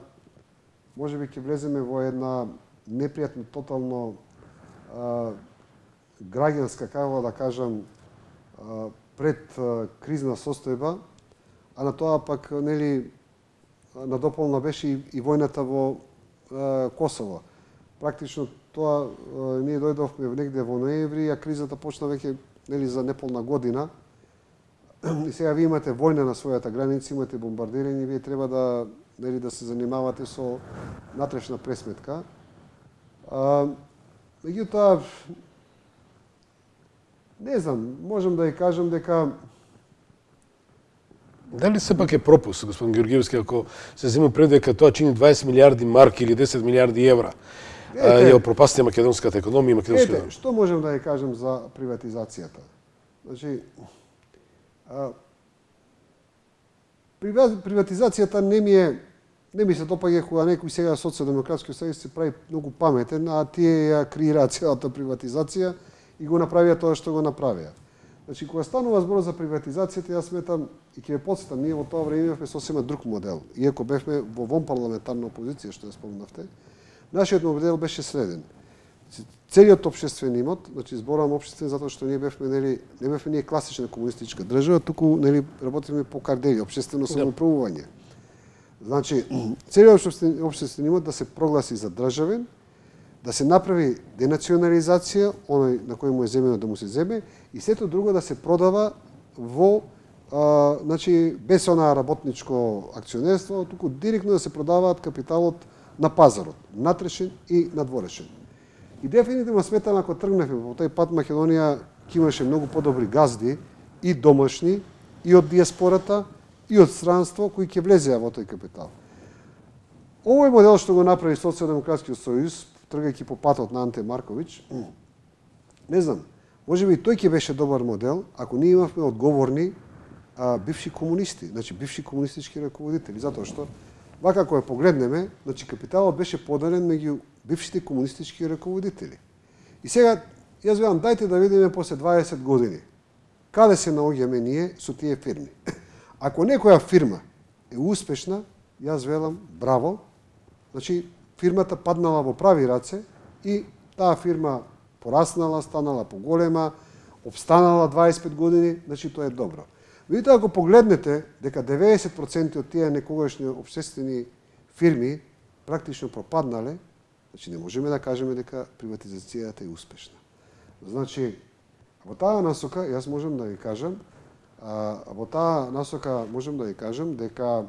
можеби ќе влеземе во една непријатно, тотално а, граѓанска, како да кажам, а, пред а, кризна состојба, а на тоа пак нели надополна беше и, и војната во а, Косово. Практично тоа а, ние дојдовме негде во ноември, а кризата почна веќе нели за неполна година. И сега вие имате војна на својата граница, имате бомбардирање, вие треба да нели да се занимавате со натрешна пресметка. А, меѓутоа, не знам, можам да ја кажам дека дали сепак е пропуск, господин Георгиевски, ако се зема пред дека тоа чини дваесет милиарди марки или десет милиарди евра, ете, ја пропасти македонската економија и македонската економија? Што можам да ја кажам за приватизацијата? Значи, а, приватизацијата не ми е не ми се допаѓа кога некој сега социјалдемократски сојуз се прави многу паметен, а тие ја креираат целата приватизација и го направија тоа што го направија. Значи, кога станува збор за приватизацијата, јас сметам и ќе ве потсетам, ние во тоа време имавме сосема друг модел. Иако бевме во вонпарламентарна опозиција, што ја спомнавте, нашиот модел беше следен. Целиот општествен имот, значи зборувам општествен затоа што ние бевме нели не бевме ние класична комунистичка држава, туку нели работиме по кардели, општествено самоуправување. Значи, целиот општествен имот да се прогласи за државен, да се направи денационализација, оној на кој му е земено да му се земе, и сето друго да се продава во, а, значи, без онаа работничко акционерство, туку директно да се продаваат капиталот на пазарот, натрешен и надворешен. И дефинитивно сметам, ако тргнеме во тој пат, Македонија ќе имаше многу подобри газди, и домашни, и од диаспората, и од странство, кои ќе влезеа во тој капитал. Овој модел што го направи Социјалдемократскиот сојуз, тргајќи по патот на Анте Марковиќ, не знам, можеби тој ќе беше добар модел, ако ние имавме одговорни а, бивши комунисти, значи бивши комунистички раководители, затоа што вака кога погледнеме, значи капиталот беше поделен меѓу бившите комунистички раководители. И сега јас велам дајте да видиме после дваесет години каде се наоѓаме ние со тие фирми. Ако некоја фирма е успешна, јас велам браво, значи фирмата паднала во прави раце и таа фирма пораснала, станала поголема, обстанала дваесет и пет години, значи тоа е добро. Видите, ако погледнете дека деветдесет проценти од тие некогашни општествени фирми практично пропаднале, значи не можеме да кажеме дека приватизацијата е успешна. Значи, во таа насока, јас можам да ви кажам, а, во таа насока можам да ви кажам дека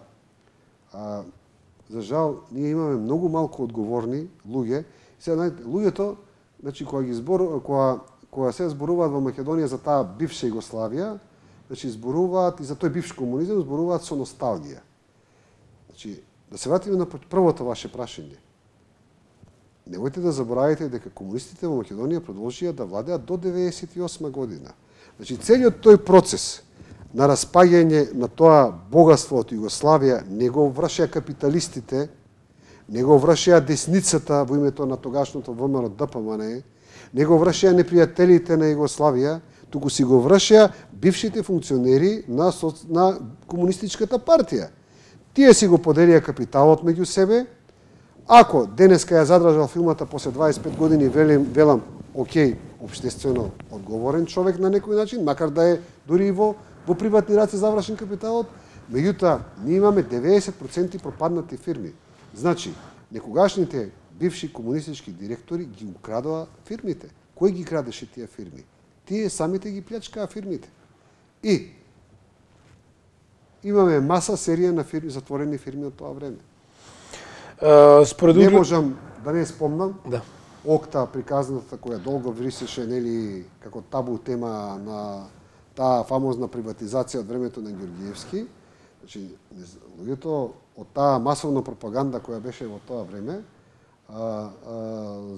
а, за жал ние имаме многу малку одговорни луѓе. Сега луѓето, значи кога ги збор кога кога се зборуваат во Македонија за таа бивша Југославија, значи зборуваат и за тој бивш комунизам, зборуваат со носталгија. Значи, да се вратиме на првото ваше прашање. Немојте да заборавите дека комунистите во Македонија продолжија да владеат до деветдесет и осма година. Значи, целиот тој процес на распаѓање на тоа богатство од Југославија не го вршеа капиталистите, не го вршеа десницата во името на тогашното ВМРО Д П М Н, не го вршеа непријателите на Југославија, туку си го вршеа бившите функционери на, на комунистичката партија. Тие си го поделија капиталот меѓу себе. Ако денеска ја задржал фирмата после дваесет и пет години, велим, велам, окей, општествено одговорен човек на некој начин, макар да е дури и во, во приватни раце завршен капиталот, меѓутоа, ние имаме деветдесет проценти пропаднати фирми. Значи, некогашните бивши комунистички директори ги украдоа фирмите. Кој ги крадеше тие фирми? Тие самите ги плячкаа фирмите. И имаме маса серија на фирми, затворени фирми од тоа време. Uh, според... Не можам да не спомнам. Да. Окта, приказната која долго врисеше, нели, како табу тема на таа фамозна приватизација од времето на Ѓорѓиевски. Значи, луѓето од таа масовна пропаганда која беше во тоа време, а, а,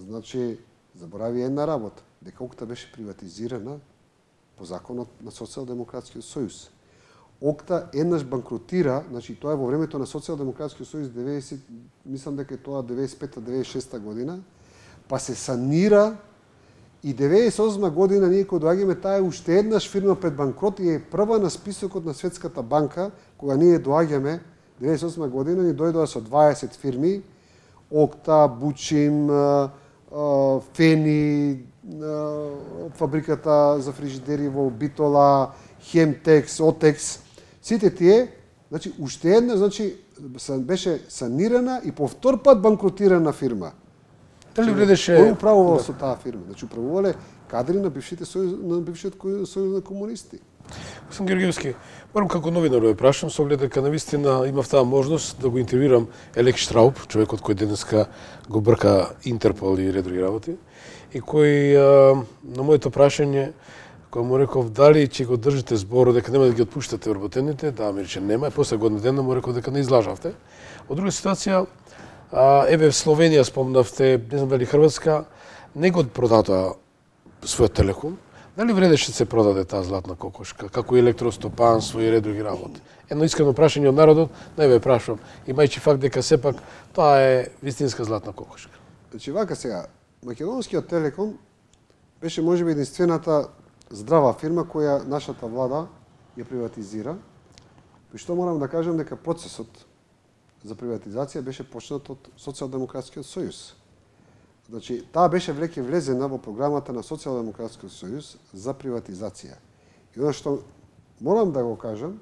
значи, заборави една работа, дека Окта беше приватизирана по законот на Социјалдемократскиот сојуз. Окта еднаш банкротира, значи тоа е во времето на Социјалдемократскиот сојуз, деветдесет, мислам дека е тоа деветдесет и пета деветдесет и шеста година, па се санира и деветдесет и осма година ние кога доаѓаме, таа е уште еднаш фирма пред банкрот и е прва на списокот на Светската банка, кога ние доаѓаме деветдесет и осма година, ни дојдоа со дваесет фирми, Окта, Бучим, Фени, фабриката за фрижидери во Битола, Хемтекс, Отекс, сите тие, значи уште една, значи беше санирана и повтор пат банкротирана фирма. Дали вредеше... Кој управувал да. со таа фирма? Значи управувале кадри на бившите сојуз, на бившиот сојуз на комунисти. Господин Георгиевски, морам како новинар да прашам, со оглед дека навистина имав таа можност да го интервјуирам Елек Штрауб, човекот кој денеска го брка Интерпол и ред други работи, и кој а, на моето прашање, кој му реков дали ќе го држите зборот дека нема да ги отпуштате вработените, да ми рече нема, и после година дена му реков дека не излажавте. Од друга ситуација, а, еве в Словенија спомнавте, не знам дали Хрватска, не го продатоа својот телеком. Дали вредеше се продаде таа златна кокошка, како и електростопанство и ред други работи? Едно искрено прашање од народот, не ве прашувам, имајќи факт дека сепак тоа е вистинска златна кокошка. Значи вака сега, Македонскиот телеком беше можеби единствената здрава фирма која нашата влада ја приватизира, при што морам да кажам дека процесот за приватизација беше почнат од Социјалдемократскиот сојуз. Значи, таа беше веќе влезена во програмата на Социјалдемократскиот сојуз за приватизација. И она што морам да го кажам,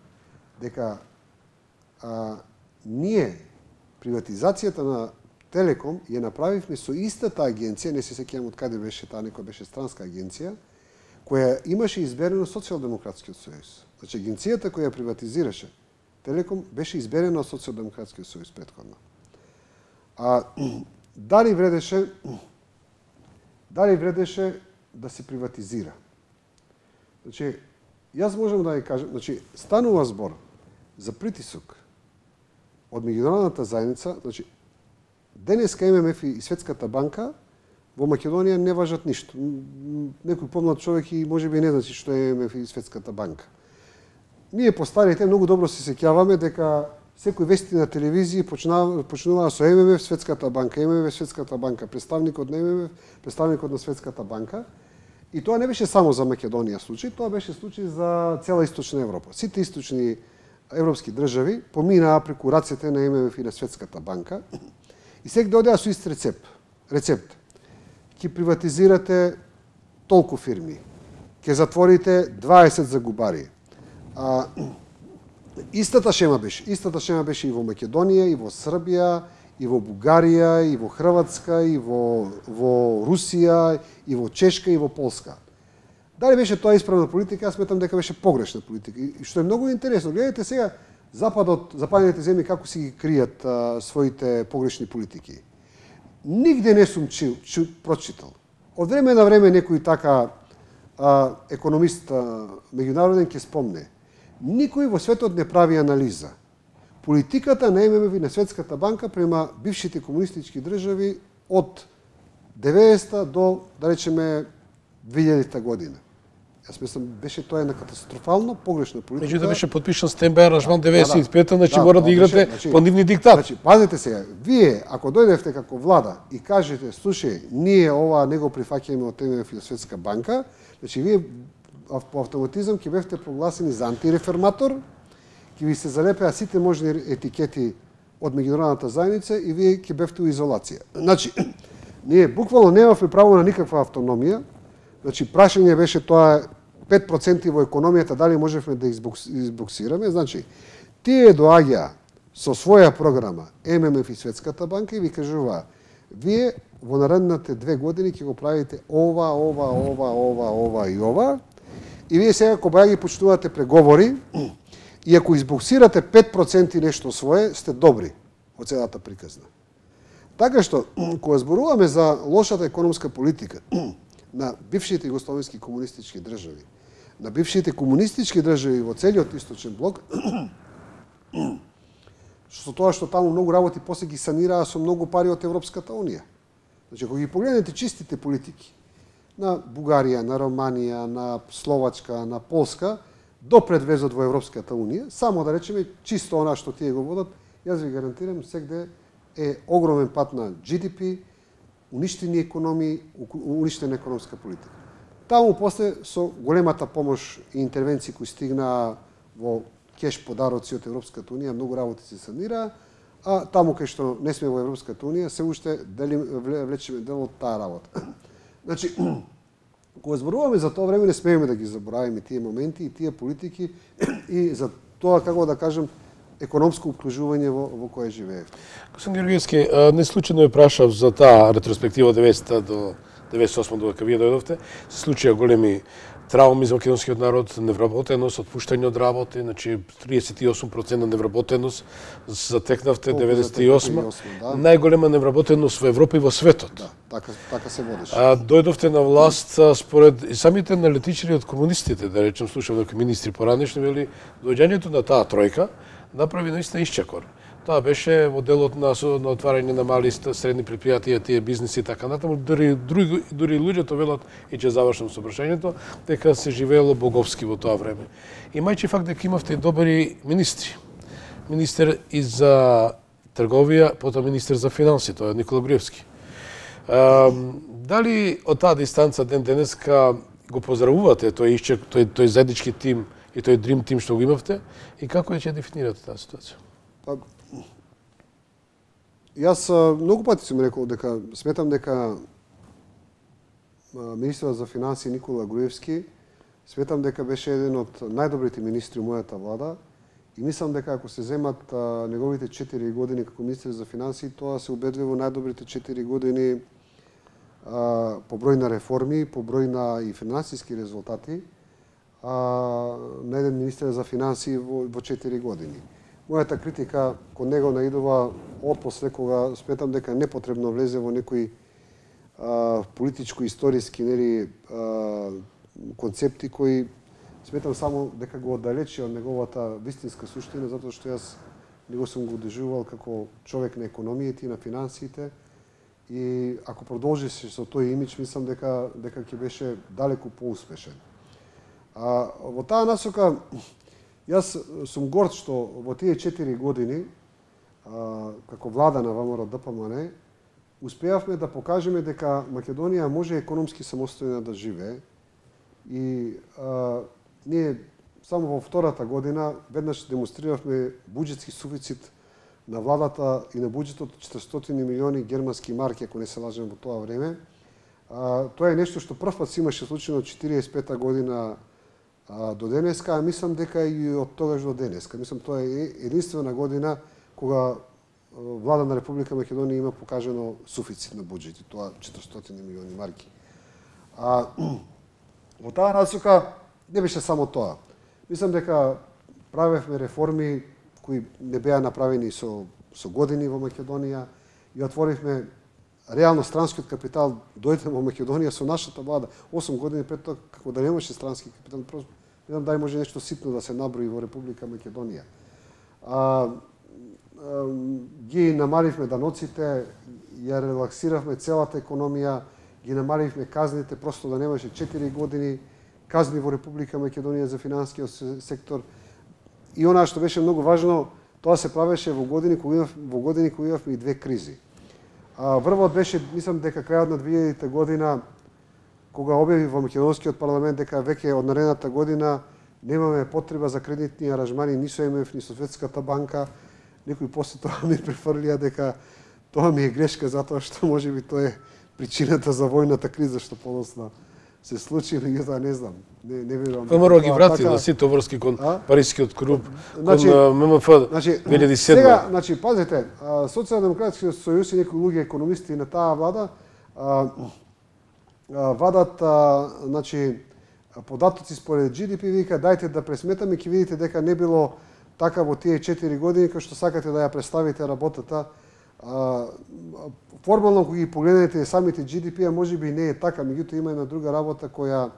дека а, ние приватизацијата на Телеком ја направивме со истата агенција, не се сеќавам од каде беше таа, некоја беше странска агенција, која имаше изберено Социјалдемократскиот сојуз. Значи, агенцијата која приватизираше Телеком беше изберена од Социјалдемократскиот сојуз претходно. А дали вредеше дали вредеше да се приватизира? Значи, јас можам да ја кажам, значи, станува збор за притисок од меѓународната заедница, значи, денеска М М Ф и Светската банка во Македонија не важат ништо. Некој помлад човек и можеби не знае што е М М Ф и Светската банка. ние постарите многу добро се сеќаваме дека секој вести на телевизија почнува со Ем Ем Еф, Светската банка, Ем Ем Еф, Светската банка, представникот на Ем Ем Еф, представникот на Светската банка. И тоа не беше само за Македонија случај, тоа беше случај за цела Источна Европа. Сите источни европски држави поминаа преку рацете на Ем Ем Еф и на Светската банка и секој одеа со ист рецепт. Рецепт. Ќе приватизирате толку фирми, ќе затворите дваесет загубари. А, Истата шема беше, истата шема беше и во Македонија, и во Србија, и во Бугарија, и во Хрватска, и во, во Русија, и во Чешка, и во Полска. Дали беше тоа исправна политика? Јас сметам дека беше погрешна политика. И што е многу интересно, гледате сега Западот, западните земји како си ги кријат а, своите погрешни политики. Нигде не сум чил, чил, прочитал. Од време на време некој така а, економист а, меѓународен ќе спомне. Никој во светот не прави анализа. Политиката на Ем Ем Еф и на Светската банка према бившите комунистички држави од деветдесета до, да речеме, две илјадета година. Јас мислам, беше тоа една катастрофално погрешна политика. Меѓутоа беше потпишан стенбај аранжман деветдесет и пета, да, значи да, мора да играте значи, по нивни диктат. Значи, пазете сега, вие ако дојдевте како влада и кажете, слушај, ние ова не го прифаќаме од Ем Ем Еф и Светска банка, значи вие по автоматизам ќе бевте прогласени за антиреферматор, ќе ви се залепеа сите можни етикети од меѓународната заедница и вие ќе бевте у изолација. Значи, ние буквално немавме право на никаква автономија. Значи, прашање беше тоа пет проценти во економијата, дали можевме да избоксираме. Значи, тие доаѓа со своја програма Ем Ем Еф и Светската банка и ви кажува, вие во наредните две години ќе го правите ова, ова, ова, ова, ова и ова. И вие сега кога ги почнувате преговори, и ако избоксирате пет проценти нешто свое, сте добри од целата приказна. Така што, кога зборуваме за лошата економска политика на бившите југословенски комунистички држави, на бившите комунистички држави во целиот источен блок, што тоа што таму многу работи после ги санираа со многу пари од Европската унија. Значи, кога ги погледнете чистите политики на Бугарија, на Романија, на Словачка, на Полска, до предвезот во Европската унија, само да речеме чисто она што тие го водат, јас ви гарантирам, сегде е огромен пат на Джи Ди Пи, уништени економии, уништена економска политика. Таму после со големата помош и интервенции кои стигнаа во кеш подароци од Европската унија, многу работи се санираа, а таму кај што не сме во Европската унија, се уште дели, влечеме дел од таа работа. Значи, кога зборуваме за тоа време, не смееме да ги забораваме тие моменти и тие политики и за тоа, како да кажем, економско обкружување во, во кое живеев. Господин Георгиевски, не случајно ја прашав за таа ретроспектива од деветдесета до деветдесет и осма додека вие дојдовте. Се случија големи трауми за македонскиот народ, невработеност, отпуштање од работи, значи триесет и осум проценти невработеност затекнавте деветдесет и осма. Да. Најголема невработеност во Европа и во светот. Да, така, така се водеше. А, дојдовте на власт според и самите аналитичари од комунистите, да речем, слушам некои министри поранешни, вели доаѓањето на таа тројка направи наистина исчекор. Тоа беше моделот на, на отварање на мали и средни предпријатија, тие бизнеси и така натаму. Дури, дури, дури луѓето велат, и ќе завршам со прашањето, дека се живеело боговски во тоа време. И мајчи факт дека имавте и добри министри. Министер и за трговија, потоа министер за финанси, тоа е Никола Груевски. А, дали од таа дистанца ден денеска го поздравувате тој исчек, тој, тој заеднички тим и тој дрим тим што го имавте и како ќе дефинирате таа ситуација? Па, јас многу пати сум рекол дека сметам дека министерот за финансии Никола Груевски сметам дека беше еден од најдобрите министри во мојата влада и мислам дека ако се земат а, неговите четири години како министер за финансии, тоа се убедливо најдобрите четири години а, по број на реформи, по број на и финансиски резултати а, на еден министер за финансии во, во четири години. Мојата критика кон него наидува отпосле кога сметам дека непотребно влезе во некои а, политичко-историски нели а, концепти кои сметам само дека го оддалечи од неговата вистинска суштина, затоа што јас него сум го одежувал како човек на економијата и на финансиите и ако продолжише со тој имидж, мислам дека дека ќе беше далеку поуспешен. А во таа насока Јас сум горд што во тие четири години, а, како влада на ВМРО Д П М Н, успеавме да покажеме дека Македонија може економски самостојно да живее и а, ние само во втората година веднаш демонстриравме буџетски суфицит на владата и на буџетот од четиристотини милиони германски марки, ако не се лажам, во тоа време. А, тоа е нешто што првпат се имаше случајно од четиридесет и пета година а, до денеска, а мислам дека и од тогаш до денеска. Мислам тоа е единствена година кога влада на Република Македонија има покажано суфицит на буџет, тоа четиристотини милиони марки. А во таа насока не беше само тоа. Мислам дека правевме реформи кои не беа направени со со години во Македонија и отворивме реално странскиот капитал дојде во Македонија со нашата влада осум години пред тоа, како да немаше странски капитал, просто не знам дали може нешто ситно да се наброи во Република Македонија. А, а ги намаливме даноците, ја релаксиравме целата економија, ги намаливме казните, просто да немаше четири години казни во Република Македонија за финансискиот сектор. И она што беше многу важно, тоа се правеше во години кога имав, во години кога имавме и две кризи. А, првот беше, мислам дека крајот на две илјадета година, кога објави во македонскиот парламент дека веќе од наредната година немаме потреба за кредитни аранжмани ни со М Еф ни со Светската банка. Некои после тоа ми префрлија дека тоа ми е грешка затоа што можеби тоа е причината за војната криза што подоцна се случи, или тоа не знам. Не не верувам. ВМРО ги врати да сите врски кон Парискиот клуб, значи, кон М М Ф значи, две илјади и седма. Сега, значи пазете, Социјалдемократскиот сојуз и некои луѓе економисти на таа влада а, а, вадат а, значи податоци според Джи Ди Пи, вика дајте да пресметаме, ќе видите дека не било така во тие четири години кај што сакате да ја представите работата. А, формално кога ги погледнете самите Джи Ди Пи, а можеби не е така, меѓутоа има една друга работа која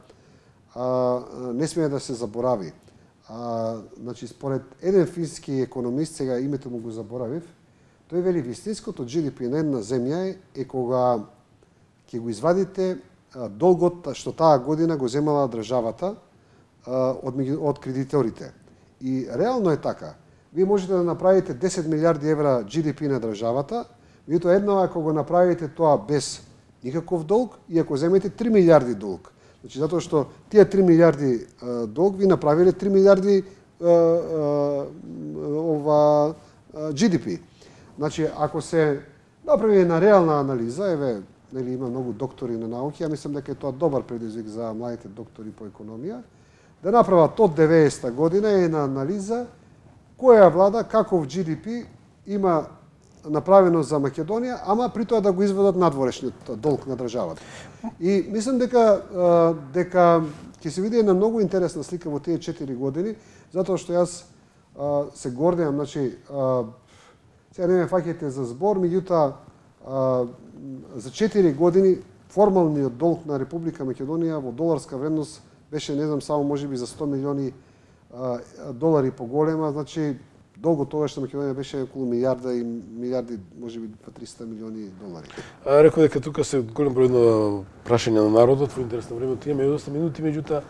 а, не смее да се заборави. А, значи според еден фински економист, сега името му го заборавив, тој вели вистинското Джи Ди Пи на една земја е, е кога ќе го извадите а, долгот што таа година го земала државата а, од од кредиторите. И реално е така. Вие можете да направите десет милиарди евра Джи Ди Пи на државата, меѓутоа едно ако го направите тоа без никаков долг и ако земете три милиарди долг. Значи затоа што тие три милиарди а, долг ви направиле три милиарди а, а, ова а, Джи Ди Пи. Значи ако се направи една реална анализа, еве нели има многу доктори на науки, ја мислам дека е тоа добар предизвик за младите доктори по економија, да направат од деветдесета година една анализа која влада, каков Джи Ди Пи има направено за Македонија, ама при тоа да го изведат надворешниот долг на државата. И мислам дека дека ќе се види една многу интересна слика во тие четири години, затоа што јас а, се гордеам, значи а, сега не ме фаќате за збор, меѓутоа за четири години формалниот долг на Република Македонија во доларска вредност беше, не знам, само можеби за сто милиони а, долари поголема, значи долгот тогаш на Македонија беше околу милиарда и милиарди, можеби триста милиони долари. А, реков дека тука се голем број на прашања на народот, во интерес на времето имаме доста минути, меѓутоа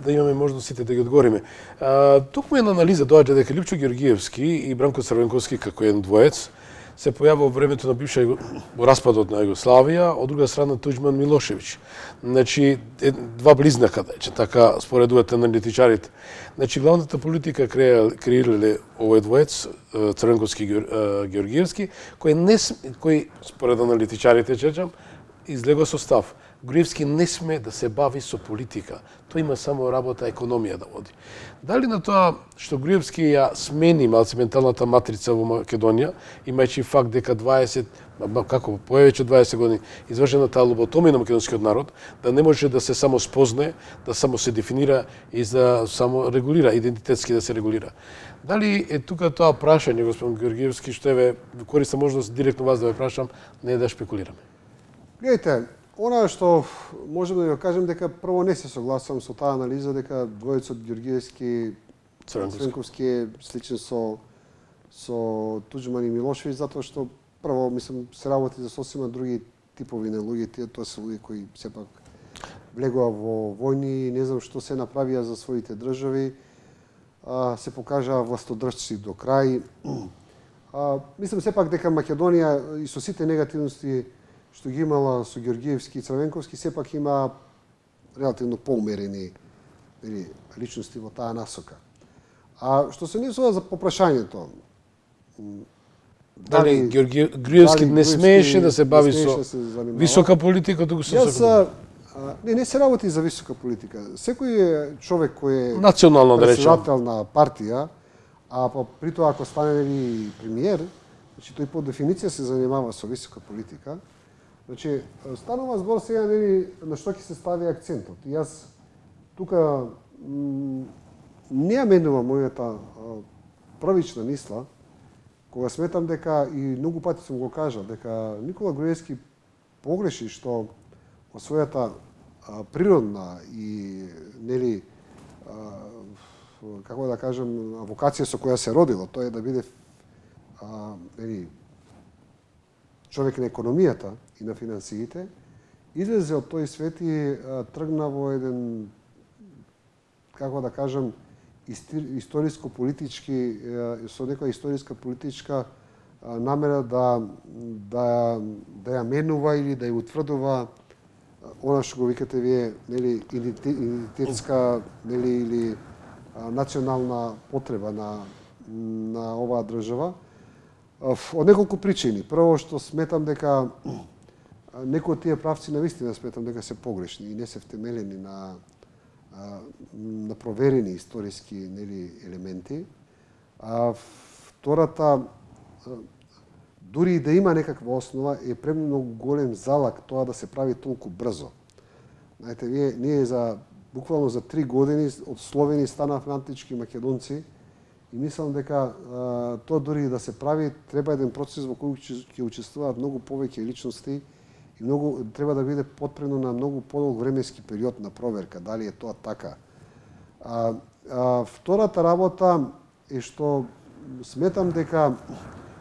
да имаме можност сите да ги одговориме. А, токму една анализа доаѓа дека Липчо Ѓоргиевски и Бранко Црвенковски како еден двоец се појавува во времето на бивша во распадот на Југославија, од друга страна Туџман Милошевиќ. Значи два близнака, че така споредуваат аналитичарите. Значи главната политика креирале овој двоец Црвенковски и Ѓоргиевски, кој не кој според аналитичарите чечам излегува со став. Груевски не сме да се бави со политика. Тој има само работа економија да води. Дали на тоа што Груевски ја смени малце менталната матрица во Македонија, имајќи факт дека дваесет, како повеќе од дваесет години извршена таа лоботомија на македонскиот народ, да не може да се само спознае, да само се дефинира и да само регулира, идентитетски да се регулира. Дали е тука тоа прашање, господин Ѓоргиевски, што еве користам можност директно вас да ве прашам, не да шпекулираме? Гледайте, она што можем да ја кажем дека прво не се согласувам со таа анализа дека двојцот Ѓоргиевски Црвенковски е сличен со со Туџман и Милошевиќ, затоа што прво мислам се работи за сосема други типови на луѓе, тие тоа се луѓе кои сепак влегува во војни и не знам што се направија за своите држави. а, се покажа властодржци до крај. А, мислам сепак дека Македонија и со сите негативности што ги имала со Георгиевски и Црвенковски, сепак има релативно поумерени личности во таа насока. А што се несува за попрашањето, дали Георгиевски не смееше да се бави со висока политика, туку со Јас не не се работи за висока политика. Секој човек кој е национално да речем председател на партија, а па при тоа ако стане нели премиер, значи тој по дефиниција се занимава со висока политика. Значи станува збор сега нели на што ќе се стави акцентот. И јас тука не ја менувам мојата првична мисла, кога сметам дека, и многу пати сум го кажал, дека Никола Груевски погреши што во својата а, природна и, нели, а, како да кажем, вокација со која се родило, тоа е да биде а, нели, човек на економијата и на финансиите, излезе од тој свет и а, тргна во еден, како да кажем, историско-политички, со некоја историска политичка намера да, да, да ја менува или да ја утврдува она што го викате вие, нели, идентитетска, нели, или а, национална потреба на, на оваа држава. Од неколку причини. Прво што сметам дека некои од тие правци навистина сметам дека се погрешни и не се втемелени на на проверени историски, нели, елементи. А втората, дури и да има некаква основа, е премногу голем залак тоа да се прави толку брзо. Знаете, вие, ние за буквално за три години од Словени станавме антички македонци и мислам дека а, тоа дури и да се прави, треба еден процес во кој ќе учествуваат многу повеќе личности и многу треба да биде потпрено на многу подолг временски период на проверка, дали е тоа така. А, а втората работа е што сметам дека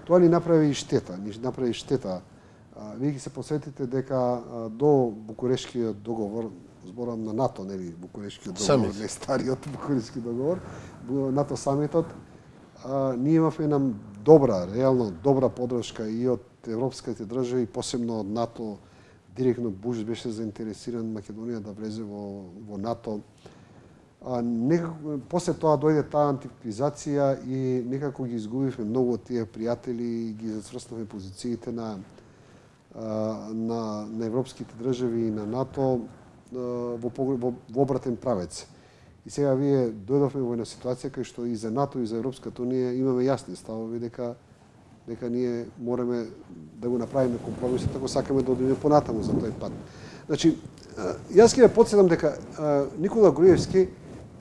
тоа ни направи штета, ни направи штета. А, вие ги се посетите дека а, до Букурешкиот договор, зборам на НАТО, нели, Букурешкиот договор, не стариот Букурешки договор, НАТО самитот, а, ние имавме една добра, реално добра подршка и од европските држави, посебно од НАТО. Директно Буш беше заинтересиран Македонија да влезе во, во НАТО. А, некако, после тоа дојде таа антиквизација и некако ги изгубивме многу од тие пријатели и ги зацврснавме позициите на, на, на европските држави и на НАТО во, во, во обратен правец. И сега вие дојдовме во една ситуација кај што и за НАТО и за Европската унија имаме јасни ставови дека дека ние мораме да го направиме компромисот ако сакаме да одиме понатаму за тој пат. Значи, јас ќе ве потсетам дека Никола Груевски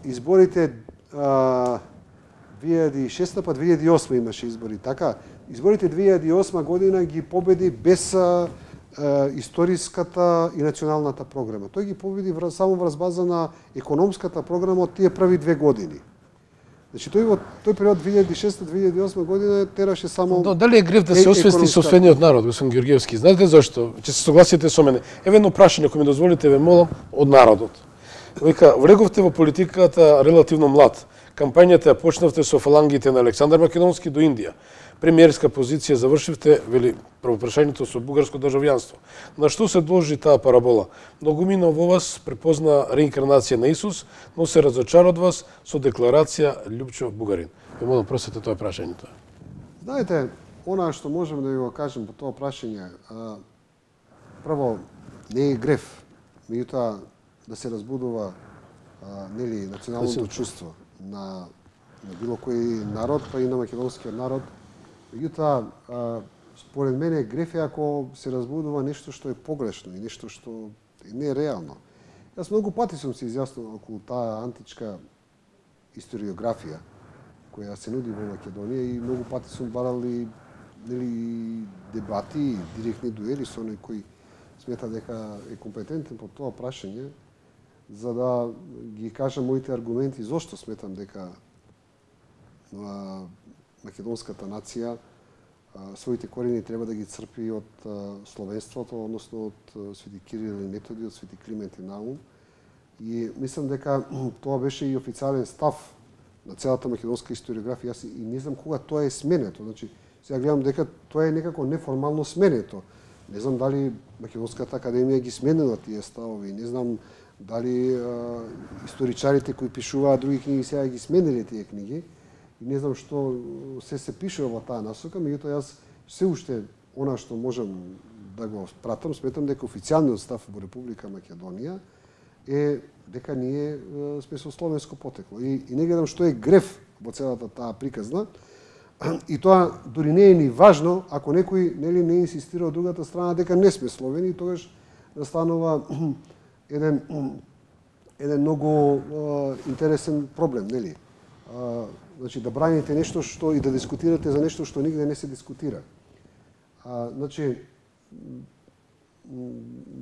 изборите две илјади и шеста па две илјади и осма имаше избори, така? Изборите две илјади и осма година ги победи без а, а, историската и националната програма. Тој ги победи само врз база на економската програма од тие први две години. Значи тој во тој период две илјади и шеста - две илјади и осма година тераше само Но дали е грев да се освести собствениот народ, господин Георгиевски? Знаете зашто? Ќе се согласите со мене. Еве едно прашање, ако ми дозволите, ве молам, од народот. Вика, влеговте во политиката релативно млад. Кампањата ја почнавте со фалангите на Александар Македонски до Индија. Премиерска позиција завршивте, вели, правопрашањето со бугарско државјанство. На што се должи таа парабола? Многумина во вас препозна реинкарнација на Исус, но се разочара од вас со декларација Љупчов бугарин. Ве молам, просете тоа прашањето. Знаете, она што можеме да ви го кажем по тоа прашање, а, прво, не е греф, меѓутоа да се разбудува а, нели, националното чувство на, на било кој народ, па и на македонскиот народ. Меѓутоа, според мене, греф е ако се разбудува нешто што е погрешно и нешто што не е реално. Јас многу пати сум се изјаснил околу таа античка историографија која се нуди во Македонија и многу пати сум барал и, нели, дебати, директни дуели со оној кој смета дека е компетентен по тоа прашање, за да ги кажам моите аргументи зошто сметам дека а, македонската нација а, своите корени треба да ги црпи од а, словенството, односно од а, Свети Кирил и Методи, од Свети Климент и Наум. И мислам дека тоа беше и официјален став на целата македонска историографија. Јас и не знам кога тоа е сменето. Значи, сега гледам дека тоа е некако неформално сменето. Не знам дали Македонската академија ги сменила тие ставови, не знам дали а, историчарите кои пишуваат други книги сега ги смениле тие книги. И не знам што се се пишува во таа насока, меѓутоа јас се уште она што можам да го пратам, сметам дека официјалниот став во Република Македонија е дека ние е, сме со словенско потекло. И, и не гледам што е греф во целата таа приказна. И тоа дури не е ни важно ако некој нели не инсистира од другата страна дека не сме словени, тогаш настанува еден еден многу а, интересен проблем, нели? А, значи да браните нешто што и да дискутирате за нешто што нигде не се дискутира. А, значи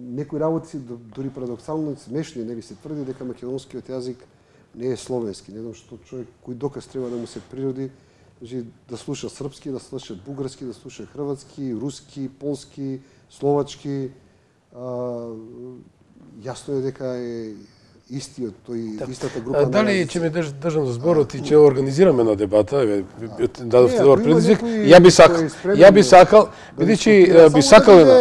некои работи си дури парадоксално смешни, нели се тврди дека македонскиот јазик не е словенски. Не знам што човек кој доказ треба да му се природи, значи да слуша српски, да слуша бугарски, да слуша хрватски, руски, полски, словачки. А, јасно е дека е истиот тој да. Истата група. А, дали ќе ме држ, држам за зборот и ќе организираме на дебата, дадовте добар предизвик. Ја би сакал, ја би сакал, бидејќи би сакал на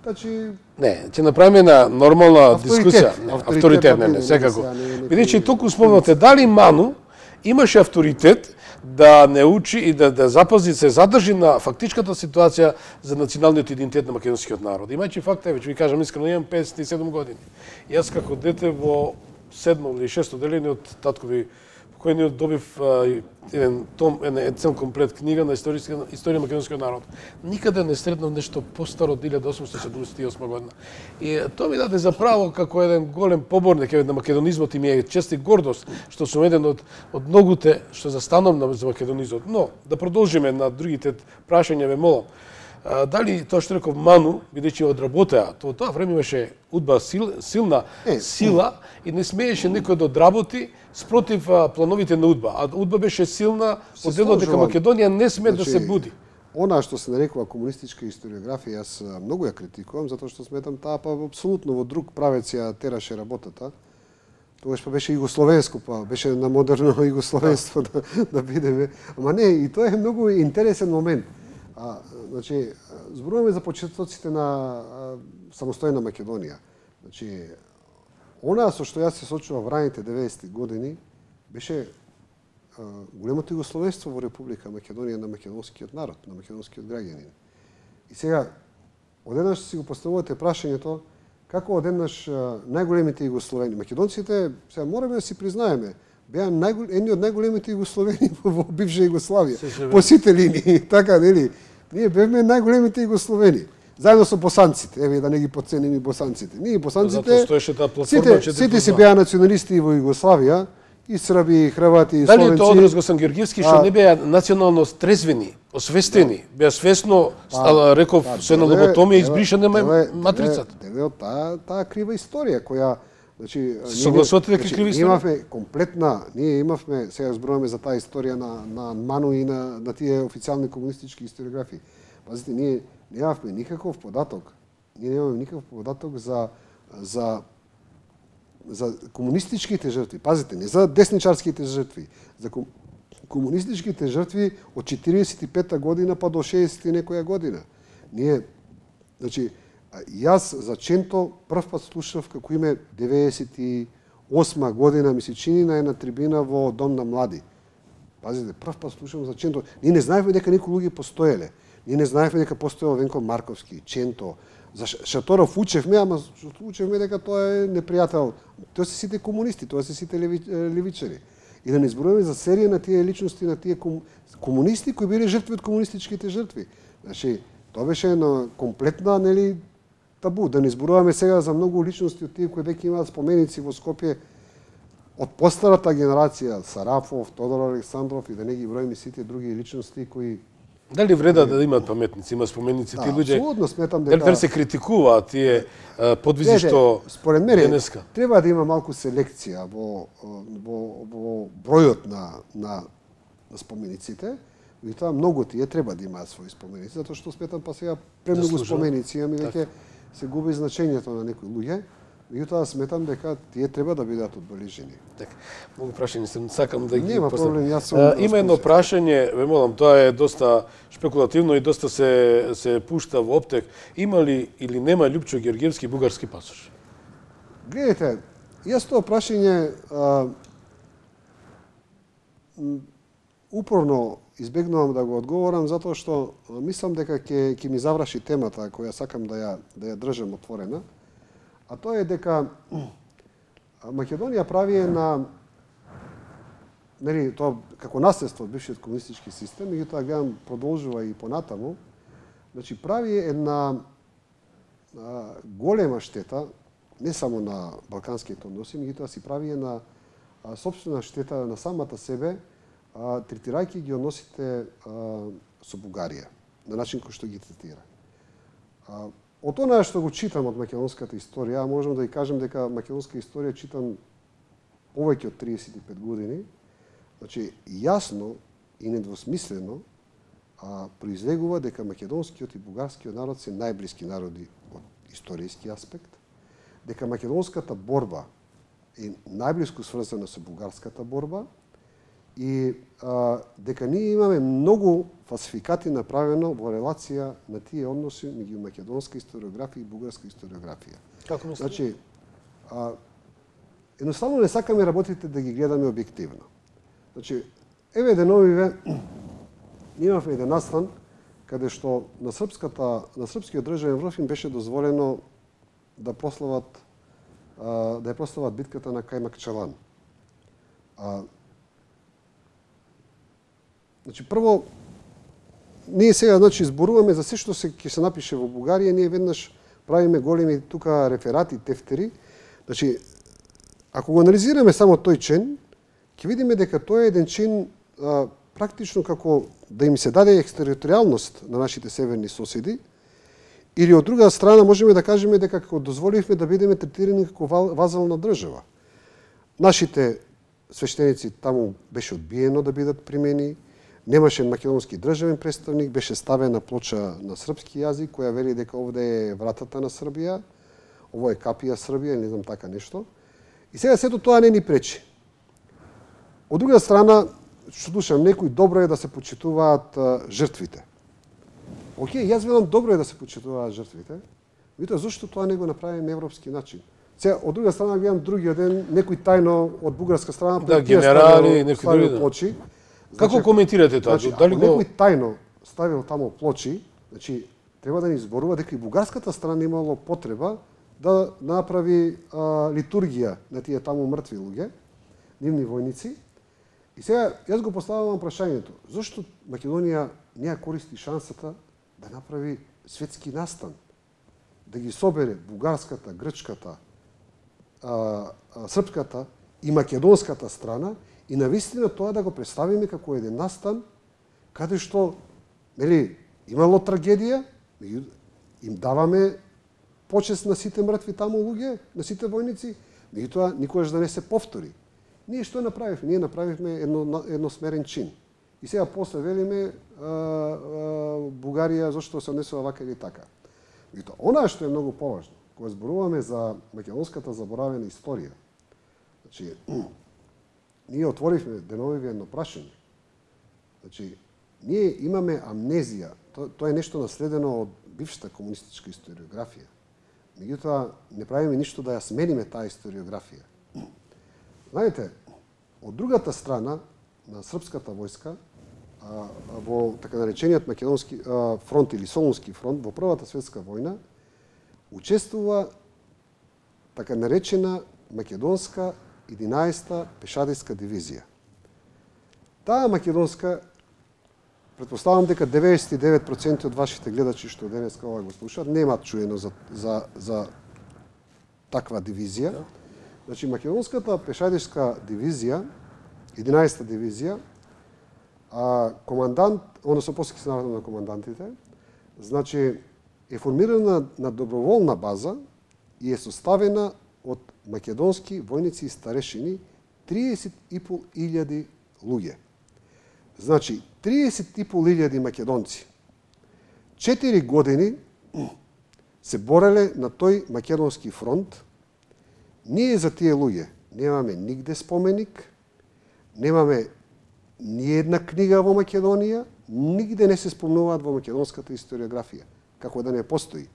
значи не, ќе направиме на нормална дискусија, авторитет, не, не, секако. Бидејќи туку спомнате дали Ману имаше авторитет да не учи и да, да запази, се задржи на фактичката ситуација за националниот идентитет на македонскиот народ. Имајќи факт, веќе ви кажам искрено, имам педесет и седум години. Јас како дете во седмо или шесто деление од таткови покојниот добив а, еден том, еден цел комплет книга на историја историја на македонскиот народ. Никаде не сретнав нешто постаро од илјада осумстотини седумдесет и осма година. И тоа ми даде за право како еден голем поборник на македонизмот и ми е чест и гордост што сум еден од од многуте што застанам на за македонизмот. Но да продолжиме на другите прашања, ве молам. А, дали тоа што реков Ману, бидејќи одработеа, тоа тоа време имаше удба сил, силна е, сила и не смееше некој да одработи спротив а, плановите на удба. А удба беше силна, од делот дека Македонија не сме значи, да се буди. Она што се нарекува комунистичка историографија, јас многу ја критикувам, затоа што сметам таа па апсолутно во друг правец ја тераше работата. Тогаш па беше југословенско, па беше на модерно југословенство да, да бидеме. Ама не, и тоа е многу интересен момент. А, значи, зборуваме за почетоците на а, самостојна Македонија. Значи, она со што јас се сочував во раните деветдесети години беше а, големото југословенство во Република Македонија на македонскиот народ, на македонскиот граѓанин. И сега, одеднаш си го поставувате прашањето како одеднаш најголемите југословени. Македонците, сега мораме да си признаеме, беа најгол... едни од најголемите југословени во бивша Југославија. По сите линии, така, нели? Ние бевме најголемите југословени. Заедно со босанците, еве да не ги потценим и босанците. Ние босанците, сите, сите си беа националисти во Југославија, и срби, и хрвати, и словенци. Дали тоа одраз Госен Георгиевски што не беа национално трезвени, освестени, беа свесно, реков, со една лоботомија избришана матрицата. Еве од таа таа крива историја која значи согласувате дека крива историја? Имавме комплетна, ние имавме, сега зборуваме за таа историја на на Ману и на на тие официјални комунистички историографии. Пазите, ние немавме никаков податок. Ние немаме никаков податок за за за комунистичките жртви. Пазите, не за десничарските жртви, за ком... комунистичките жртви од четиридесет и пета година па до шеесет и некоја година. Ние, значи, јас за Ченто прв пат слушав како име деветдесет и осма година, ми се чини на една трибина во Дом на млади. Пазите, прв пат слушам за Ченто. Ние не знаевме дека некои луѓе постоеле. Ние не знаевме дека постоел Венко Марковски, Ченто. За Шаторов учевме, ама учевме дека тоа е непријател. Тоа се сите комунисти, тоа се сите леви, левичари. И да не зборуваме за серија на тие личности, на тие ком... комунисти кои биле жртви од комунистичките жртви. Значи, тоа беше една комплетна, нели, табу. Да не зборуваме сега за многу личности од тие кои веќе имаат споменици во Скопје од постарата генерација, Сарафов, Тодор Александров и да не ги броиме сите други личности кои дали вреда да имаат паметници, има споменици да, тие луѓе? Апсолутно сметам дека дали се критикуваат тие подвизи што според мене денеска треба да има малку селекција во во во бројот на на на спомениците, и тоа многу тие треба да имаат своји споменици, затоа што сметам па сега премногу споменици имаме веќе се губи значењето на некои луѓе. Меѓутоа сметам дека тие треба да бидат одбележени. Така, многу прашања се сакам да ги Нема проблем, јас сум. А, има едно прашање, ве молам, тоа е доста шпекулативно и доста се се пушта во оптек. Има ли или нема Лјупчо Ѓорѓевски бугарски пасош? Гледайте, јас тоа прашање а, упорно избегнувам да го одговорам затоа што мислам дека ќе ќе ми заврши темата која сакам да ја да ја држам отворена. А тоа е дека Македонија прави на нели тоа како наследство од бившиот комунистички систем, меѓутоа гледам продолжува и понатаму. Значи прави една а, голема штета не само на балканските односи, меѓутоа си прави една а, собствена штета на самата себе, а, третирајќи ги односите а, со Бугарија на начин кој што ги третира. А, Од она што го читам од македонската историја, можам да ви кажам дека македонска историја читам повеќе од триесет и пет години, значи јасно и недвосмислено а, произлегува дека македонскиот и бугарскиот народ се најблиски народи од историјски аспект, дека македонската борба е најблиску сврзана со бугарската борба и а, дека ние имаме многу фалсификати направено во релација на тие односи меѓу македонска историографија и бугарска историографија. Како мислите? Значи, а, едноставно не сакаме работите да ги гледаме објективно. Значи, еве деновиве имавме еден настан каде што на српската на српскиот државен врв им беше дозволено да прослават а, да ја прослават битката на Кајмакчалан. А, Значи, прво, ние сега значи, зборуваме за се што се, ќе се напише во Бугарија, ние веднаш правиме големи тука реферати, тефтери. Значи, ако го анализираме само тој член, ќе видиме дека тој е еден член а, практично како да им се даде екстериторијалност на нашите северни соседи, или од друга страна можеме да кажеме дека како дозволивме да бидеме третирани како вазална држава. Нашите свештеници таму беше одбиено да бидат примени, немаше македонски државен представник, беше ставена плоча на српски јазик која вели дека овде е вратата на Србија, ово е капија Србија, не знам така нешто. И сега сето тоа не ни пречи. Од друга страна, што слушам, некои добро е да се почитуваат а, жртвите. Океј, јас велам добро е да се почитуваат жртвите, меѓутоа зошто тоа не го направиме европски начин? Сега, од друга страна, гледам другиот ден, некои тајно од бугарска страна, да, генерали, некои други плочи. Како значи, коментирате тоа? Значи, Дали ако го некој тајно ставил таму плочи, значи треба да ни зборува дека и бугарската страна имало потреба да направи а, литургија на тие таму мртви луѓе, нивни војници. И сега јас го поставувам прашањето: зошто Македонија не ја користи шансата да направи светски настан, да ги собере бугарската, грчката, а, а, српската и македонската страна и навистина тоа да го представиме како еден настан каде што нели имало трагедија, им даваме почест на сите мртви таму луѓе, на сите војници, меѓутоа никогаш да не се повтори. Ние што направивме? Ние направивме едно едносмерен чин. И сега после велиме а, а, Бугарија зошто се однесува вака или така. Меѓутоа, она што е многу поважно, кога зборуваме за македонската заборавена историја, значи ние отворивме деновиве едно прашање. Значи, ние имаме амнезија. Тоа, тоа е нешто наследено од бившата комунистичка историографија. Меѓутоа, не правиме ништо да ја смениме таа историографија. Знаете, од другата страна на српската војска, а, во така наречениот македонски а, фронт или Солунски фронт, во Првата светска војна, учествува така наречена македонска единаесета пешадиска дивизија. Таа македонска, претпоставам дека деветдесет и девет проценти од вашите гледачи што денеска ова го слушаат немаат чуено за, за, за таква дивизија. Значи, македонската пешадишка дивизија, единаесета дивизија, а, командант, односно после се наредно на командантите, значи, е формирана на доброволна база и е составена од македонски војници и старешини триесет и пол илјади луѓе. Значи, триесет и пол илјади македонци четири години се бореле на тој македонски фронт ние за тие луѓе немаме нигде споменик, немаме ни една книга во Македонија, нигде не се спомнуваат во македонската историографија, како да не постои.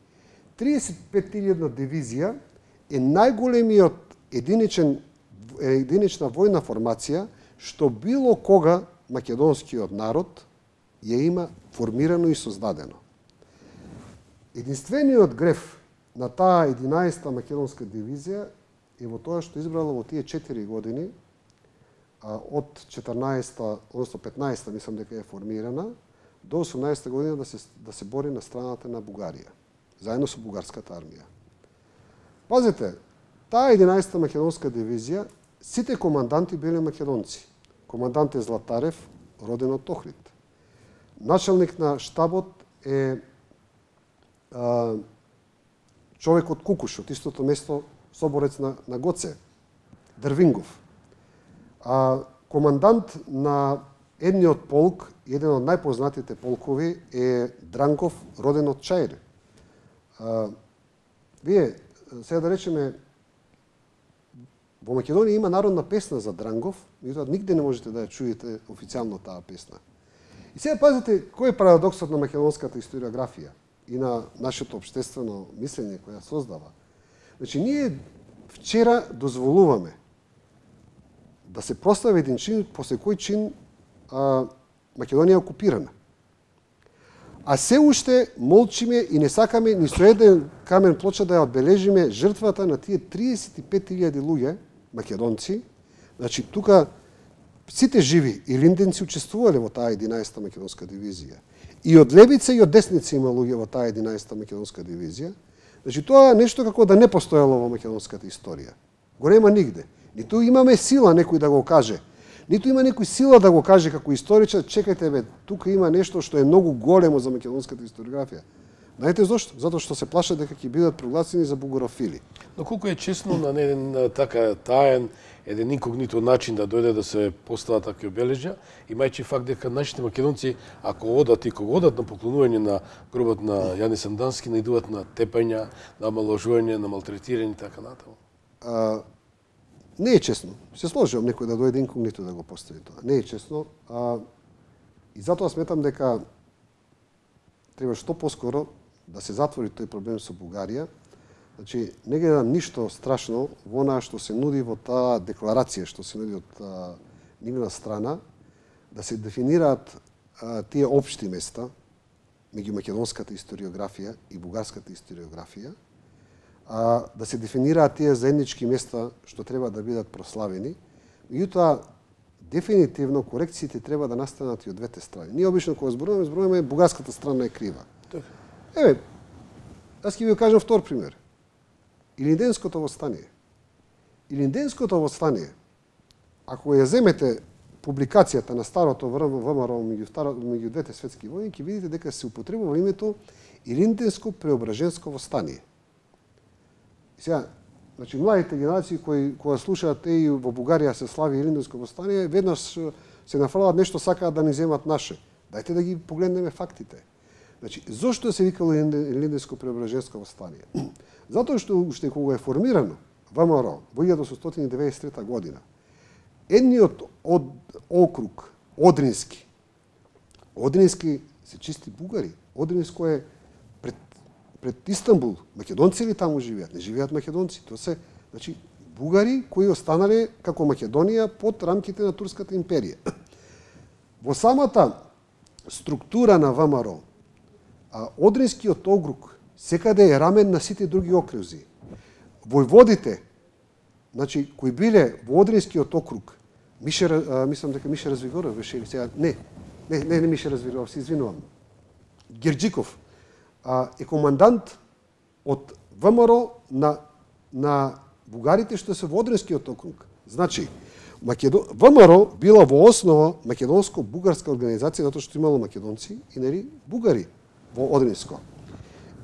триесет и пет илјадна дивизија е најголемиот единичен, единична војна формација што било кога македонскиот народ ја има формирано и создадено. Единствениот греф на таа единаесета македонска дивизија е во тоа што избрала во тие четири години, а, од четрнаесета, односно петнаесета, мислам дека е формирана, до осумнаесета година да се, да се бори на страната на Бугарија, заедно со бугарската армија. Пазете, таа единаесета македонска дивизија, сите команданти биле македонци. Командант е Златарев, роден од Охрид. Началник на штабот е а, човек од Кукуш, од истото место, соборец на, на Гоце, Дрвингов. А, командант на едниот полк, еден од најпознатите полкови, е Дранков, роден од Чаир. А, вие, сега да речеме, во Македонија има народна песна за Дрангов, меѓутоа нигде не можете да ја чуете официјално таа песна. И сега пазите кој е парадоксот на македонската историографија и на нашето општествено мислење која создава. Значи, ние вчера дозволуваме да се прослави еден чин, после кој чин а, Македонија е окупирана. А се уште молчиме и не сакаме ни со еден камен плоча да ја одбележиме жртвата на тие триесет и пет илјади луѓе, македонци. Значи, тука сите живи и линденци учествувале во таа единаесета македонска дивизија. И од левица и од десница има луѓе во таа единаесета македонска дивизија. Значи, тоа е нешто како да не постоело во македонската историја. Го нема нигде. Ниту имаме сила некој да го каже, ниту има некој сила да го каже како историчар, чекајте бе, тука има нешто што е многу големо за македонската историографија. Знаете зошто? Затоа што се плашат дека ќе бидат прогласени за бугарофили. Но колку е честно на еден така таен, еден инкогнито начин да дојде да се постават такви обележја, имајќи факт дека нашите македонци, ако одат и кога одат на поклонување на гробот на Јане Сандански, наидуваат на тепања, на омаложување, на малтретирање и така натаму. А, не е честно. Се сложувам некој да дојде инкогнито да го постави тоа. Не е честно. А, и затоа сметам дека треба што поскоро да се затвори тој проблем со Бугарија. Значи, не гледам ништо страшно во она што се нуди во таа декларација, што се нуди од а, нивна страна, да се дефинираат а, тие општи места меѓу македонската историографија и бугарската историографија, а, да се дефинираат тие заеднички места што треба да бидат прославени. Меѓутоа, дефинитивно корекциите треба да настанат и од двете страни. Ние обично кога зборуваме, зборуваме бугарската страна е крива. Еве, аз ќе ви кажам втор пример. Илинденското восстание. Илинденското восстание, ако ја земете публикацијата на старото ВМРО меѓу двете светски војни, ќе видите дека се употребува името Илинденско преображенско восстание. И сега, значи, младите генерации кои кога слушаат еј во Бугарија се слави Илинденско восстание, веднаш се нафрлаат нешто сакаат да ни земат наше. Дајте да ги погледнеме фактите. Значи, зошто се викало Илинденско преображенско восстание? Затоа што уште кога е формирано ВМРО во илјада осумстотини и деветдесет и трета година, едниот од округ, Одрински, Одрински се чисти бугари. Одринско е пред, пред Истанбул. Македонци ли таму живеат? Не живеат македонци. Тоа се, значи, бугари кои останале како Македонија под рамките на Турската империја. Во самата структура на ВМРО, а Одринскиот округ секаде е рамен на сите други окрузи. Војводите, значи, кои биле во Одринскиот округ, Мише, а, мислам дека Мише Развигоров беше или сега, не, не, не, не Мише Развигоров, се извинувам, Герджиков, а, е командант од ВМРО на, на бугарите што се во Одринскиот округ. Значи, Македон... ВМРО била во основа македонско-бугарска организација, затоа што имало македонци и нели бугари во Одринско.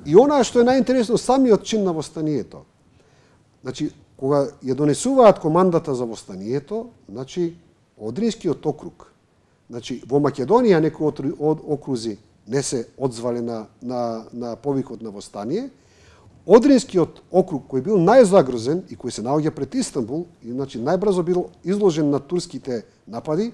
И она што е најинтересно, самиот чин на восстанието. Значи, кога ја донесуваат командата за восстанието, значи, Одринскиот округ, значи, во Македонија некои од окрузи не се одзвале на, на, на повикот на восстание, Одринскиот округ кој бил најзагрозен и кој се наоѓа пред Истанбул, и значи најбрзо бил изложен на турските напади,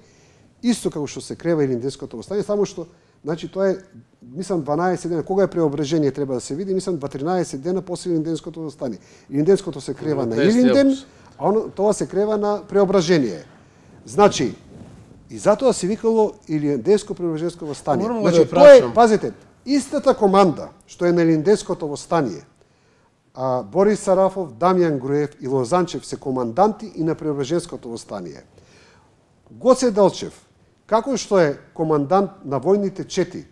исто како што се крива Илинденското востание, само што значи тоа е мислам дванаесет дена, кога е преображение треба да се види, мислам дванаесет дена после Илинденското востание. Илинденското се крива на Илинден, а оно, тоа се крива на преображение. Значи, и затоа се викало Илинденско преображенско востание. Значи, тоа е, пазите, истата команда што е на Илинденското востание, а, Борис Сарафов, Дамјан Груев и Лозанчев се команданти и на преображенското востание. Гоце Делчев, како што е командант на војните чети,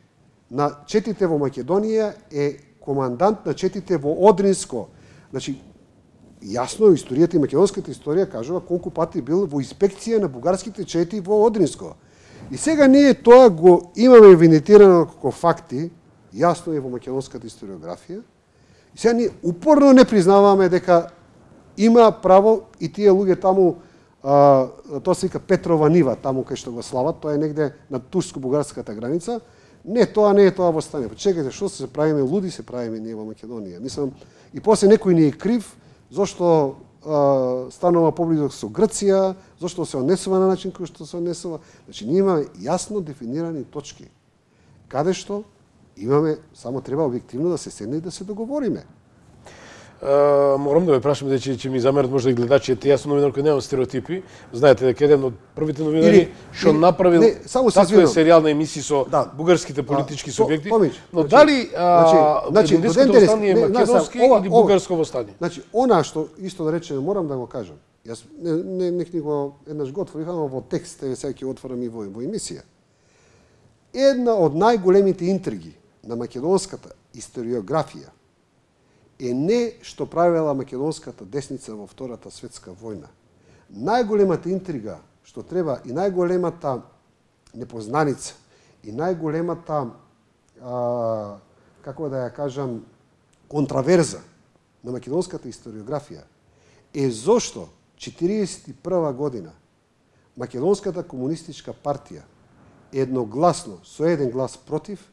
на четите во Македонија, е командант на четите во Одринско. Значи, јасно, историјата и македонската историја кажува колку пати бил во инспекција на бугарските чети во Одринско. И сега ние тоа го имаме винетирано како факти, јасно е во македонската историографија. И сега ние упорно не признаваме дека има право и тие луѓе таму, а, тоа се вика Петрова нива, таму кај што го слават, тоа е негде на турско-бугарската граница. Не, тоа не е тоа востание. Чекајте, што се правиме луди, се правиме ние во Македонија. Мислам, и после некој ни е крив, зошто а, станува поблизок со Грција, зошто се однесува на начин кој што се однесува. Значи, ние имаме јасно дефинирани точки, каде што имаме, само треба објективно да се седне и да се договориме. Uh, морам да ве прашам, дека ќе ми замерат можда и гледачите, јас сум новинар кој немам стереотипи. Знаете дека еден од првите новинари што направил таква серијална емисија со да. бугарските политички да. субјекти. То, но значи, дали значи, Илинденското востание е македонски или бугарско востание? Значи, она што исто да речеме, морам да го кажам. Јас не не не го еднаш го отворив, ама во текст еве сега ќе отворам и во, во емисија. Една од најголемите интриги на македонската историографија е не што правела македонската десница во Втората светска војна. Најголемата интрига што треба и најголемата непознаница и најголемата а, како да ја кажам контраверза на македонската историографија е зошто четиридесет и прва година македонската комунистичка партија едногласно со еден глас против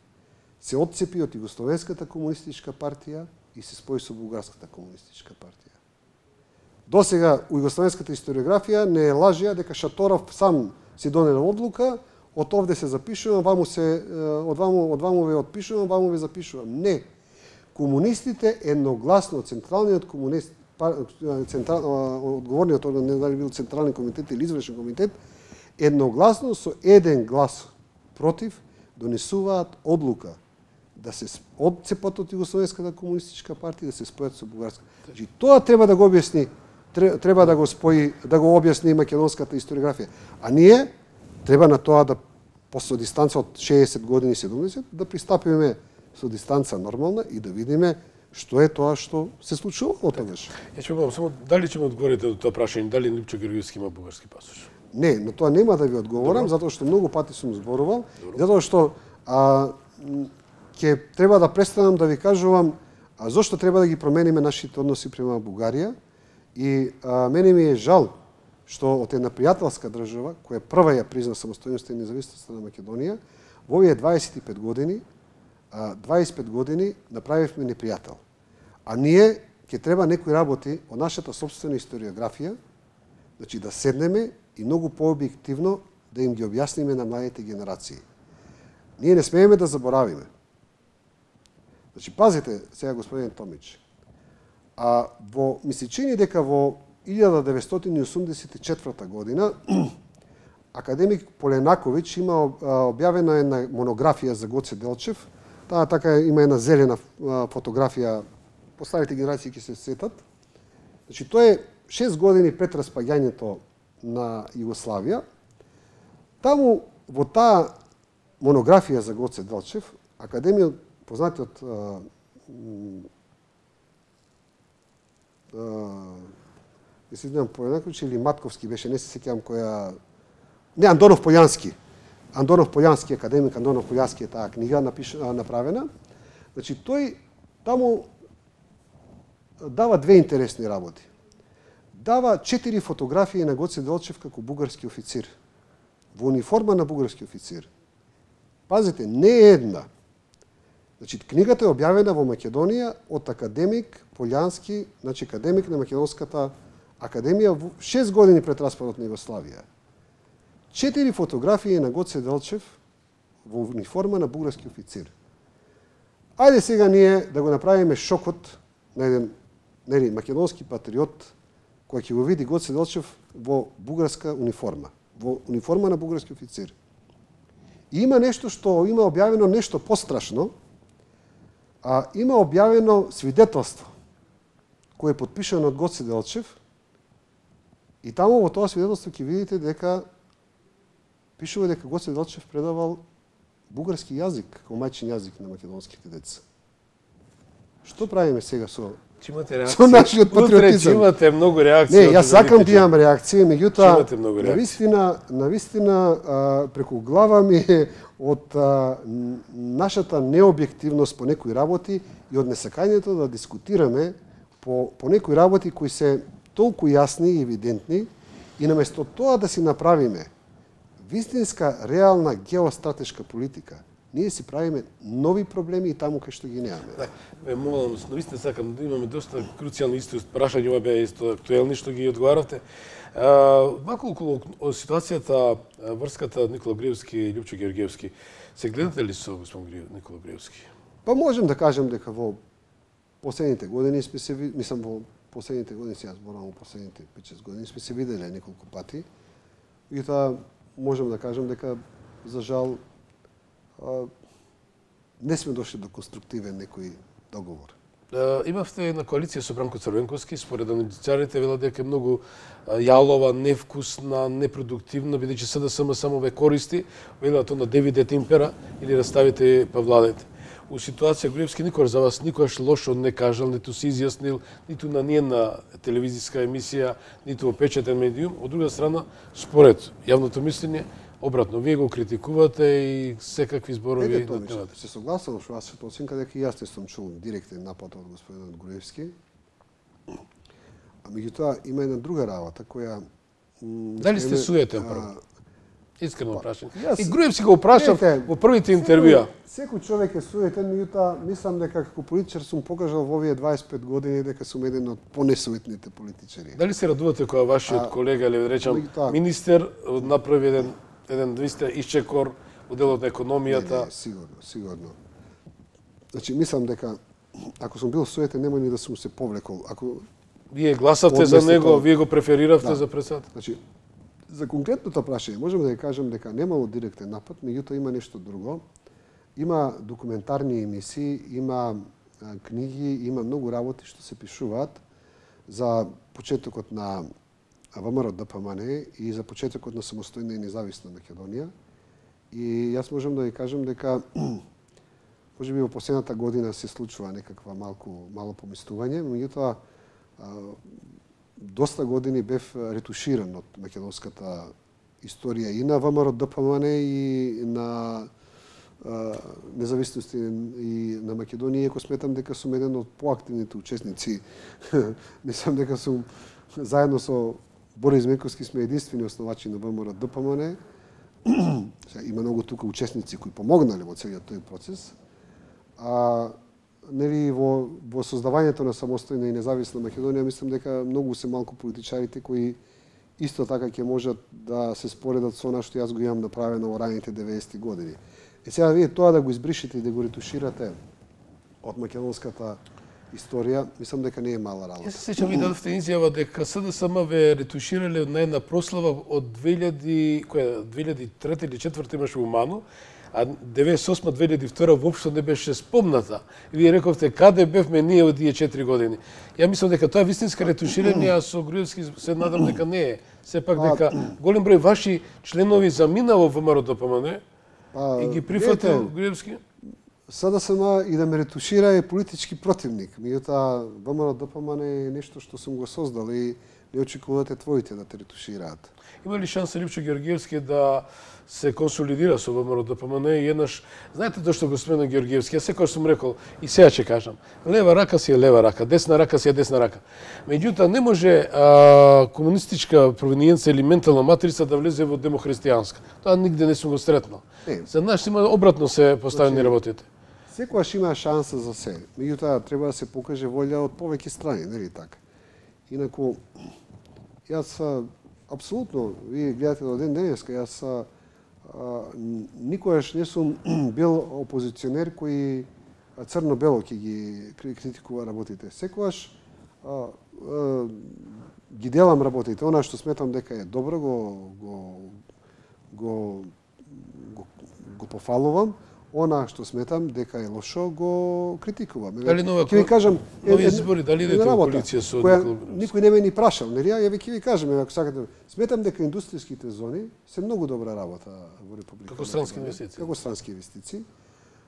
се отцепи од Југословенската комунистичка партија и се спои со Бугарската комунистичка партија. Досега у југословенската историографија не лажеа дека Шаторов сам си донел одлука, од овде се запишува, ваму се од ваму од ваму ве отпишувам, ваму ве запишувам. Не. Комунистите едногласно, централниот комунист, централ, одговорниот орган, не дали бил централен комитет или извршен комитет, едногласно со еден глас против донесуваат одлука да се одцепат од Југословенската комунистичка партија, да се спојат со бугарската. Значи тоа треба да го објасни, треба да го спои, да го објасни македонската историографија. А ние треба на тоа да после дистанца од шеесет години, седумдесет, да пристапиме со дистанца нормална и да видиме што е тоа што се случувало тогаш. Ја ќе го само дали ќе ме одговорите до тоа прашање, дали Липчо Георгиевски има бугарски пасош? Не, на тоа нема да ви одговорам, затоа што многу пати сум зборувал, затоа што а, ќе треба да престанам да ви кажувам а, зошто треба да ги промениме нашите односи према Бугарија и а, мене ми е жал што од една пријателска држава, која прва ја призна самостојноста и независноста на Македонија, во овие дваесет и пет години, а, дваесет и пет години направивме непријател. А ние ќе треба некои работи од нашата собствена историографија, значи да седнеме и многу пообјективно да им ги објасниме на младите генерации. Ние не смееме да заборавиме. Значи, пазите, сега господин Томич, а во, ми се чини дека во илјада деветстотини и осумдесет и четврта година академик Поленаковиќ има објавена една монографија за Гоце Делчев. Таа така има една зелена фотографија, постарите генерации ќе се сетат. Значи, тоа е шест години пред распаѓањето на Југославија. Таму во таа монографија за Гоце Делчев, академиот познатиот не се знам Поленаковиќ или Матковски беше, не се сеќавам која... Не, Андонов Полјански. Андонов Полјански, академик Андонов Полјански е таа книга напиш... направена. Значи, тој таму дава две интересни работи. Дава четири фотографии на Гоце Делчев како бугарски официр. Во униформа на бугарски официр. Пазите, не една, Значи, книгата е објавена во Македонија од академик Полјански, значи академик на Македонската академија шест години пред распадот на Југославија. Четири фотографии на Гоце Делчев во униформа на бугарски официр. Ајде сега ние да го направиме шокот на еден нели, македонски патриот кој ќе го види Гоце Делчев во бугарска униформа, во униформа на бугарски официр. И има нешто што има објавено нешто пострашно, а има објавено свидетелство кој е потпишано од Гоце Делчев и таму во тоа свидетелство ќе видите дека пишува дека Гоце Делчев предавал бугарски јазик како мајчин јазик на македонските деца. Што правиме сега со Че имате реакција. Со нашиот патриотизам. Утре имате многу реакции. Не, јас сакам да имам реакција, меѓутоа навистина, навистина преку глава ми е од а, нашата необјективност по некои работи и од несакањето да дискутираме по по некои работи кои се толку јасни и евидентни и наместо тоа да си направиме вистинска реална геостратешка политика, ние си правиме нови проблеми и таму кај што ги немаме. Да, ме молам, навистина сакам да имаме доста круцијални исти прашања, ова беа исто актуелни што ги одговаравте. Малку околу ситуацијата, врската Никола Груевски и Љупчо Георгиевски. Се гледате ли со господин Никола Груевски? Па можем да кажем дека во последните години сме се мислам во последните години, сега зборувам во последните пет-шест години сме се виделе неколку пати. И тоа можем да кажем дека за жал не сме дошли до конструктивен некој договор. Имавте една коалиција со Бранко Црвенковски, според аналитичарите велат дека е многу јалова, невкусна, непродуктивна, бидејќи СДСМ само ве користи, велат на девидете импера или раставите па владете. У ситуација Груевски никогаш за вас никогаш лошо не кажал, ниту се изјаснил, ниту на ниједна телевизиска емисија, ниту во печатен медиум. Од друга страна, според јавното мислење, обратно, вие го критикувате и секакви зборови надневате. Се согласувам со вашата оценка дека и јас не сум чул директен напад од господинот Груевски. А меѓутоа има една друга работа која дали сте суетен прво? Искрено прашање. И Груевски го прашав во првите интервјуа. Секој човек е суетен, меѓутоа мислам дека како политичар сум покажал во овие дваесет и пет години дека сум еден од понесуетните политичари. Дали се радувате кога вашиот колега, или да речам, министер направи еден еден двиста исчекор во делот на економијата? Не, не, сигурно, сигурно. Значи мислам дека ако сум бил суетен нема ни да сум се повлекол. Ако вие гласавте за него, вие го префериравте за председател. Значи за конкретното прашање можеме да ја кажем дека немало директен напад, меѓутоа има нешто друго. Има документарни емисии, има книги, има многу работи што се пишуваат за почетокот на ВМРО ДПМН и за почетокот на самостојна и независна Македонија. И јас можам да ви кажем дека можеби во последната година се случува некаква малку мало помислување, меѓутоа доста години бев ретуширан од македонската историја и на ВМРО ДПМН и на независност и на Македонија, иако сметам дека сум еден од поактивните учесници. Мислам дека сум заедно со Борис Менковски сме единствени основачи на ВМРО ДПМН. Има многу тука учесници кои помогнале во целиот тој процес. А нели во во создавањето на самостојна и независна Македонија мислам дека многу се малку политичарите кои исто така ќе можат да се споредат со она што јас го имам направено во раните деветдесети години. Е сега вие тоа да го избришите и да го ретуширате од македонската историја, мислам дека не е мала работа. Јас се сеќам ви дадовте изјава дека СДСМ ве ретуширале на една прослава од две илјади, која две илјади и трета или четврта имаше Умано, а деветдесет и осма две илјади и втора воопшто не беше спомната. И вие рековте каде бевме ние од тие четири години. Ја мислам дека тоа е вистинска ретуширање, а со Груевски се надам дека не е. Сепак дека голем број ваши членови замина во ВМРО ДПМН и ги прифатил Груевски. СДСМ и да ме ретушира е политички противник. Меѓутоа ВМРО ДПМН е нешто што сум го создал и не очекувате твоите да те ретушираат. Има ли шанса Љупчо Георгиевски да се консолидира со ВМРО ДПМН и еднаш, знаете тоа што го спомена Георгиевски, јас секогаш сум рекол и сега ќе кажам, лева рака си е лева рака, десна рака си е десна рака. Меѓутоа не може а, комунистичка провиниенца или ментална матрица да влезе во демохристијанска. Тоа нигде не сум го сретнал. За нас има обратно се поставени значи, работите. Секогаш има шанса за се. Меѓутоа треба да се покаже волја од повеќе страни, нели така? Инаку јас апсолутно, вие гледате до ден денеска, јас а, никогаш не сум бил опозиционер кој црно-бело ќе ги критикува работите. Секогаш а, а, ги делам работите. Она што сметам дека е добро, го го го го, го пофалувам. Она што сметам дека е лошо, го критикувам. Дали нова, ќе ви кажам, нови избори, дали идете во коалиција со никој не ме ни прашал, нели? Ја ви ќе ви кажам, ако сакате. Сметам дека индустријските зони се многу добра работа во Република. Како странски инвестиции. Како странски инвестиции.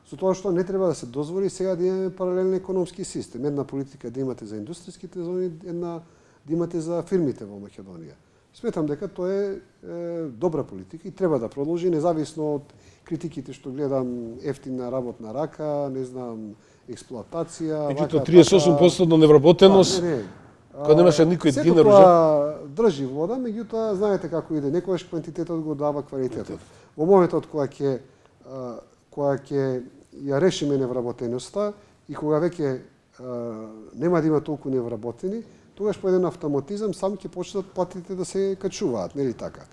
Со тоа што не треба да се дозволи сега да имаме паралелен економски систем. Една политика да имате за индустријските зони, една да имате за фирмите во Македонија. Сметам дека тоа е, е добра политика и треба да продолжи, независно од критиките што гледам, ефтина работна рака, не знам, експлоатација. Меѓутоа триесет и осум проценти невработеност, кога немаше никој динар уже. Тоа држи вода, меѓутоа знаете како иде, некогаш квантитетот го дава квалитетот. Во моментот кога ќе кога ќе ја решиме невработеноста и кога веќе нема да има толку невработени, тогаш по еден автоматизам сам ќе почнат платите да се качуваат, нели така?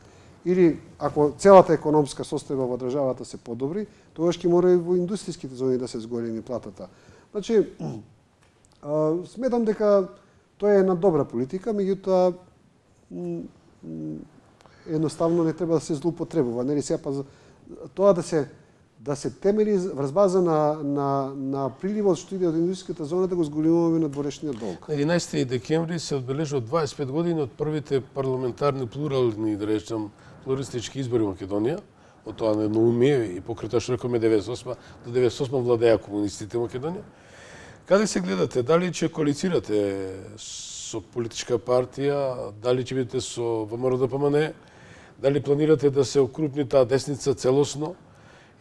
Или ако целата економска состојба во државата се подобри, тогаш ќе мора и во индустријските зони да се зголеми платата. Значи, сметам дека тоа е една добра политика, меѓутоа едноставно не треба да се злоупотребува, нели сега па тоа да се да се темели врз база на на на приливот што иде од индустријската зона да го зголемуваме на дворешниот долг. На единаесети декември се одбележува дваесет и пет години од првите парламентарни плурални, да речем, плуристички избори во Македонија, од тоа неумие и покрај тоа што рекоме деветдесет и осма до деветдесет и осма владеа комунистите во Македонија. Каде се гледате? Дали ќе коалицирате со политичка партија, дали ќе бидете со ВМРО-ДПМН, дали планирате да се окрупни таа десница целосно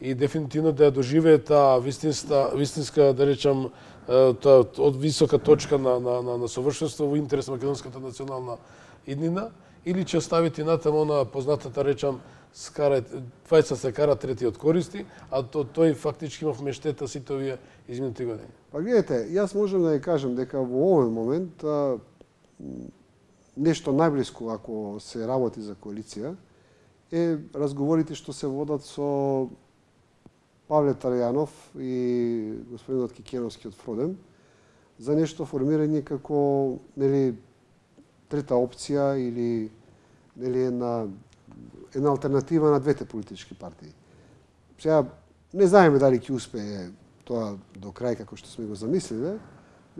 и дефинитивно да ја доживее таа вистинска, вистинска, да речам, таа од висока точка на на на, на совршенство во интерес на македонската национална иднина, или ќе оставите натаму она познатата речам скара двајца се кара, третиот користи, а то тој фактички има вмештета сите овие изминати години. Па гледате, јас можам да ја кажам дека во овој момент а, нешто најблиско ако се работи за коалиција е разговорите што се водат со Павле Тарајанов и господинот Кикеновски од Фродем за нешто формирање како нели трета опција или нели една една алтернатива на двете политички партии. Сега не знаеме дали ќе успее тоа до крај како што сме го замислиле,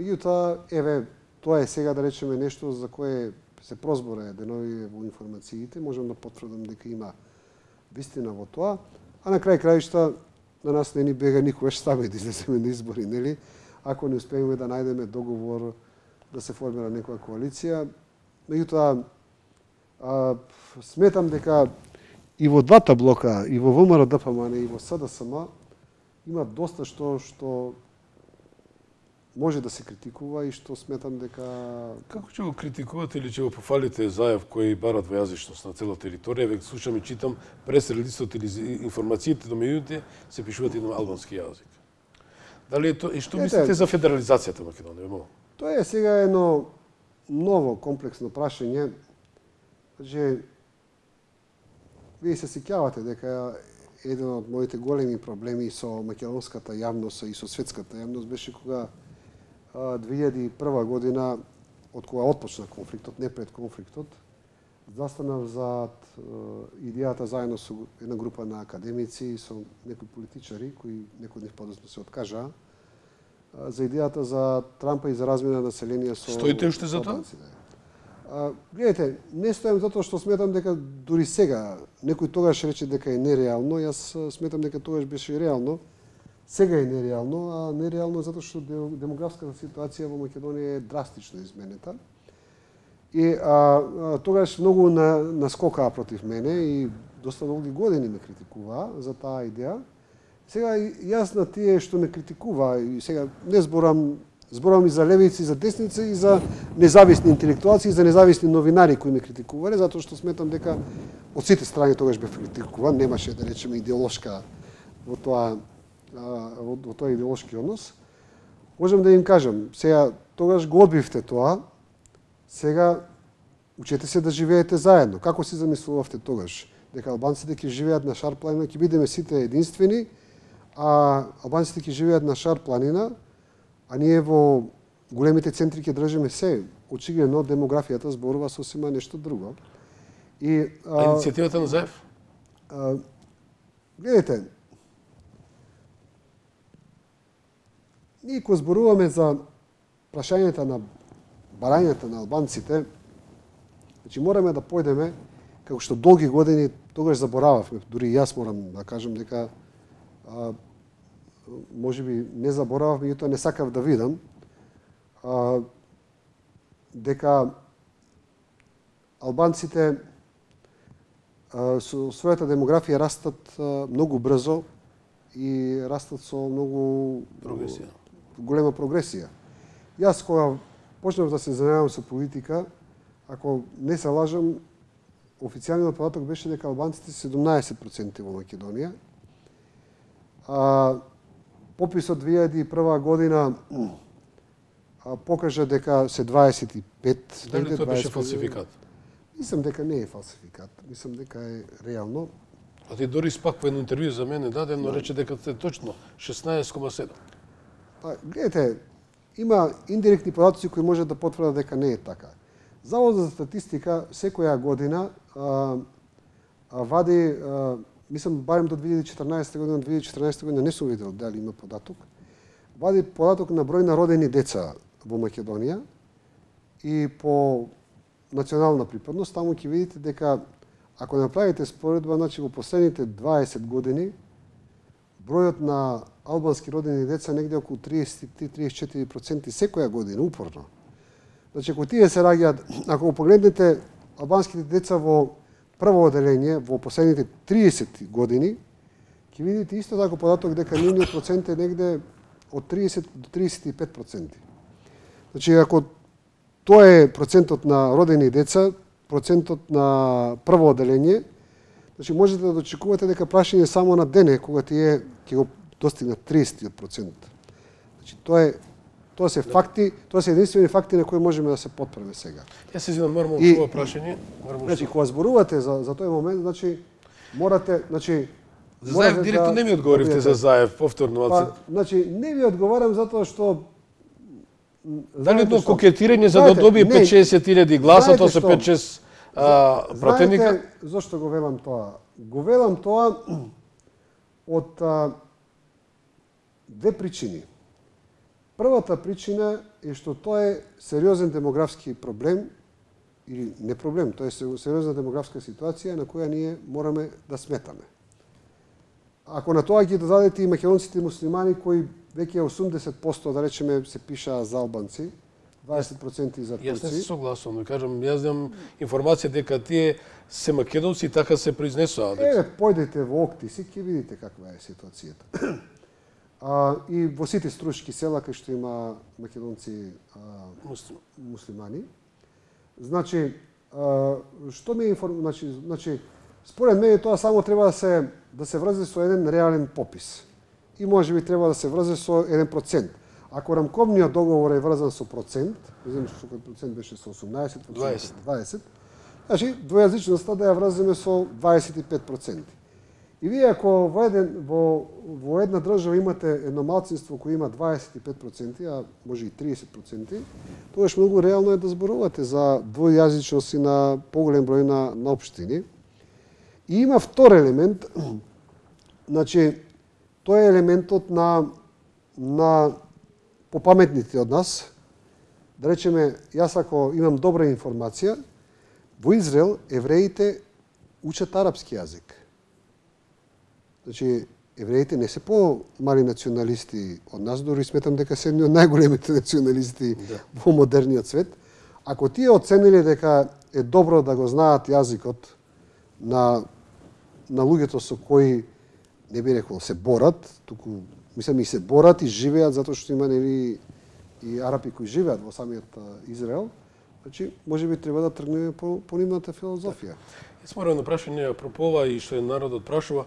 меѓутоа еве тоа е сега да речеме нешто за кое се прозбора денови во информациите, можам да потврдам дека има вистина во тоа, а на крај краишта на нас не ни бега никогаш стаме да излеземе на избори, нели? Ако не успееме да најдеме договор да се формира некоја коалиција. Меѓутоа, сметам дека и во двата блока, и во ВМРО-ДПМН, и во СДСМ, има доста што што може да се критикува и што сметам дека... Како ќе го критикувате или ќе го пофалите Заев кој бара двојазичност на цела територија? Веќе слушам и читам прес-релисот или информациите до медиите се пишуваат и на албански јазик. Дали е тоа и што мислите за федерализацијата на Македонија? Тоа е сега едно ново комплексно прашање. Значи, вие се сеќавате дека еден од моите големи проблеми со македонската јавност и со светската јавност беше кога две илјади и прва година, од кога отпочна конфликтот, не пред конфликтот, застанав за идејата заедно со една група на академици и со некои политичари, кои некои од нив подоцна се откажаа, за идејата за Трампа и за размена на население со... Стоите уште за тоа? Гледайте, не стојам затоа што сметам дека дури сега, некој тогаш рече дека е нереално, јас сметам дека тогаш беше реално, сега е нереално, а нереално затоа што демографската ситуација во Македонија е драстично изменета. И а, а, тогаш многу на, наскокаа против мене и доста долги години ме критикуваа за таа идеја. Сега јас на тие што ме критикува и сега не зборам зборам и за левици, и за десници, и за независни интелектуалци, и за независни новинари кои ме критикувале, затоа што сметам дека од сите страни тогаш бев критикуван, немаше да речеме идеолошка во тоа во, во тој идеолошки однос, можам да им кажам, сега тогаш го одбивте тоа, сега учете се да живеете заедно. Како си замислувавте тогаш? Дека албанците ќе живеат на Шар планина, ќе бидеме сите единствени, а албанците ќе живеат на Шар планина, а ние во големите центри ќе држиме се. Очигледно демографијата зборува сосема нешто друго. И а, а иницијативата на Заев? А, гледайте, ние кога зборуваме за прашањата на барањата на албанците, значи мораме да појдеме, како што долги години тогаш заборававме, дури и јас морам да кажам дека а, може би не заборавав, меѓутоа не сакав да видам, а, дека албанците а, со својата демографија растат а, многу брзо и растат со многу прогресија. голема прогресија. Јас кога почнав да се занимавам со политика, ако не се лажам, официјалниот податок беше дека албанците се седумнаесет проценти во Македонија. А, пописот две илјади и прва година а, покажа дека се дваесет и пет. Дали тоа беше фалсификат? Мислам дека не е фалсификат. Мислам дека е реално. А ти дори спак во едно интервју за мене дадено рече дека е точно шеснаесет кома седум. Па, гледате, има индиректни податоци кои може да потврдат дека не е така. Заводот за статистика секоја година а, а, вади, а, мислам, барем до две илјади и четрнаесета година, две илјади и четрнаесета година не сум видел дали има податок, вади податок на број на родени деца во Македонија и по национална припадност, таму ќе видите дека ако направите споредба, значи во последните дваесет години бројот на албански родени деца негде околу триесет и три до триесет и четири проценти секоја година, упорно. Значи, ако тие се раѓаат, ако погледнете албанските деца во прво оделение во последните триесет години, ќе видите исто така податок дека нивниот процент е негде од триесет до триесет и пет проценти. Значи, ако тоа е процентот на родени деца, процентот на прво оделение, значи можете да очекувате дека прашање само на дене, кога тие ќе го достигнат триесет процент. Значи, тоа е Тоа се факти, тоа се единствени факти на кои можеме да се потпреме сега. Јас се извинам, нормално ова прашање. Значи, кога зборувате за за тој момент, значи морате, значи за Заев директно да, не ми одговоривте да, за Заев повторно. Па, значи не ви одговарам затоа што дали едно кокетирање за да добие пет шесет илјади гласа, тоа се пет шест пратеника. Знаете зошто го велам тоа? Го велам тоа од а, две причини. Првата причина е што тоа е сериозен демографски проблем, или не проблем, тоа е сериозна демографска ситуација на која ние мораме да сметаме. Ако на тоа ги додадете и македонците муслимани кои веќе осумдесет проценти да речеме се пишаа за албанци, дваесет проценти за турци. Јас не се согласувам, кажам, јас имам информација дека тие се македонци и така се произнесуваат. Еве, појдете во Октиси, ќе видите каква е ситуацијата. А, и во сите струшки села кај што има македонци а, Муслим. муслимани. Значи, а, што ми е информ... Значи, значи, според мене тоа само треба да се да се врзе со еден реален попис. И може би треба да се врзе со еден процент. Ако рамковниот договор е врзан со процент, не знам што кој процент беше со осумнаесет, дваесет. дваесет, значи двојазичноста да ја врземе со дваесет и пет проценти. И вие ако во, еден, во, во една држава имате едно малцинство кој има дваесет и пет проценти, а може и триесет проценти, тогаш многу реално е да зборувате за двојазичност и на поголем број на, на општини. И има втор елемент, значи, тоа е елементот на, на попаметните од нас. Да речеме, јас ако имам добра информација, во Израел евреите учат арапски јазик. Значи, евреите не се по-мали националисти од нас, дори сметам дека се едни од најголемите националисти да. Во модерниот свет. Ако тие оцениле дека е добро да го знаат јазикот на, на луѓето со кои, не би рекол, се борат, туку, мислам, и се борат и живеат, затоа што има нели и арапи кои живеат во самиот Израел, значи, може би треба да тргнеме по, по нивната филозофија. Сморено прашање апропо ова и што е народот прашува.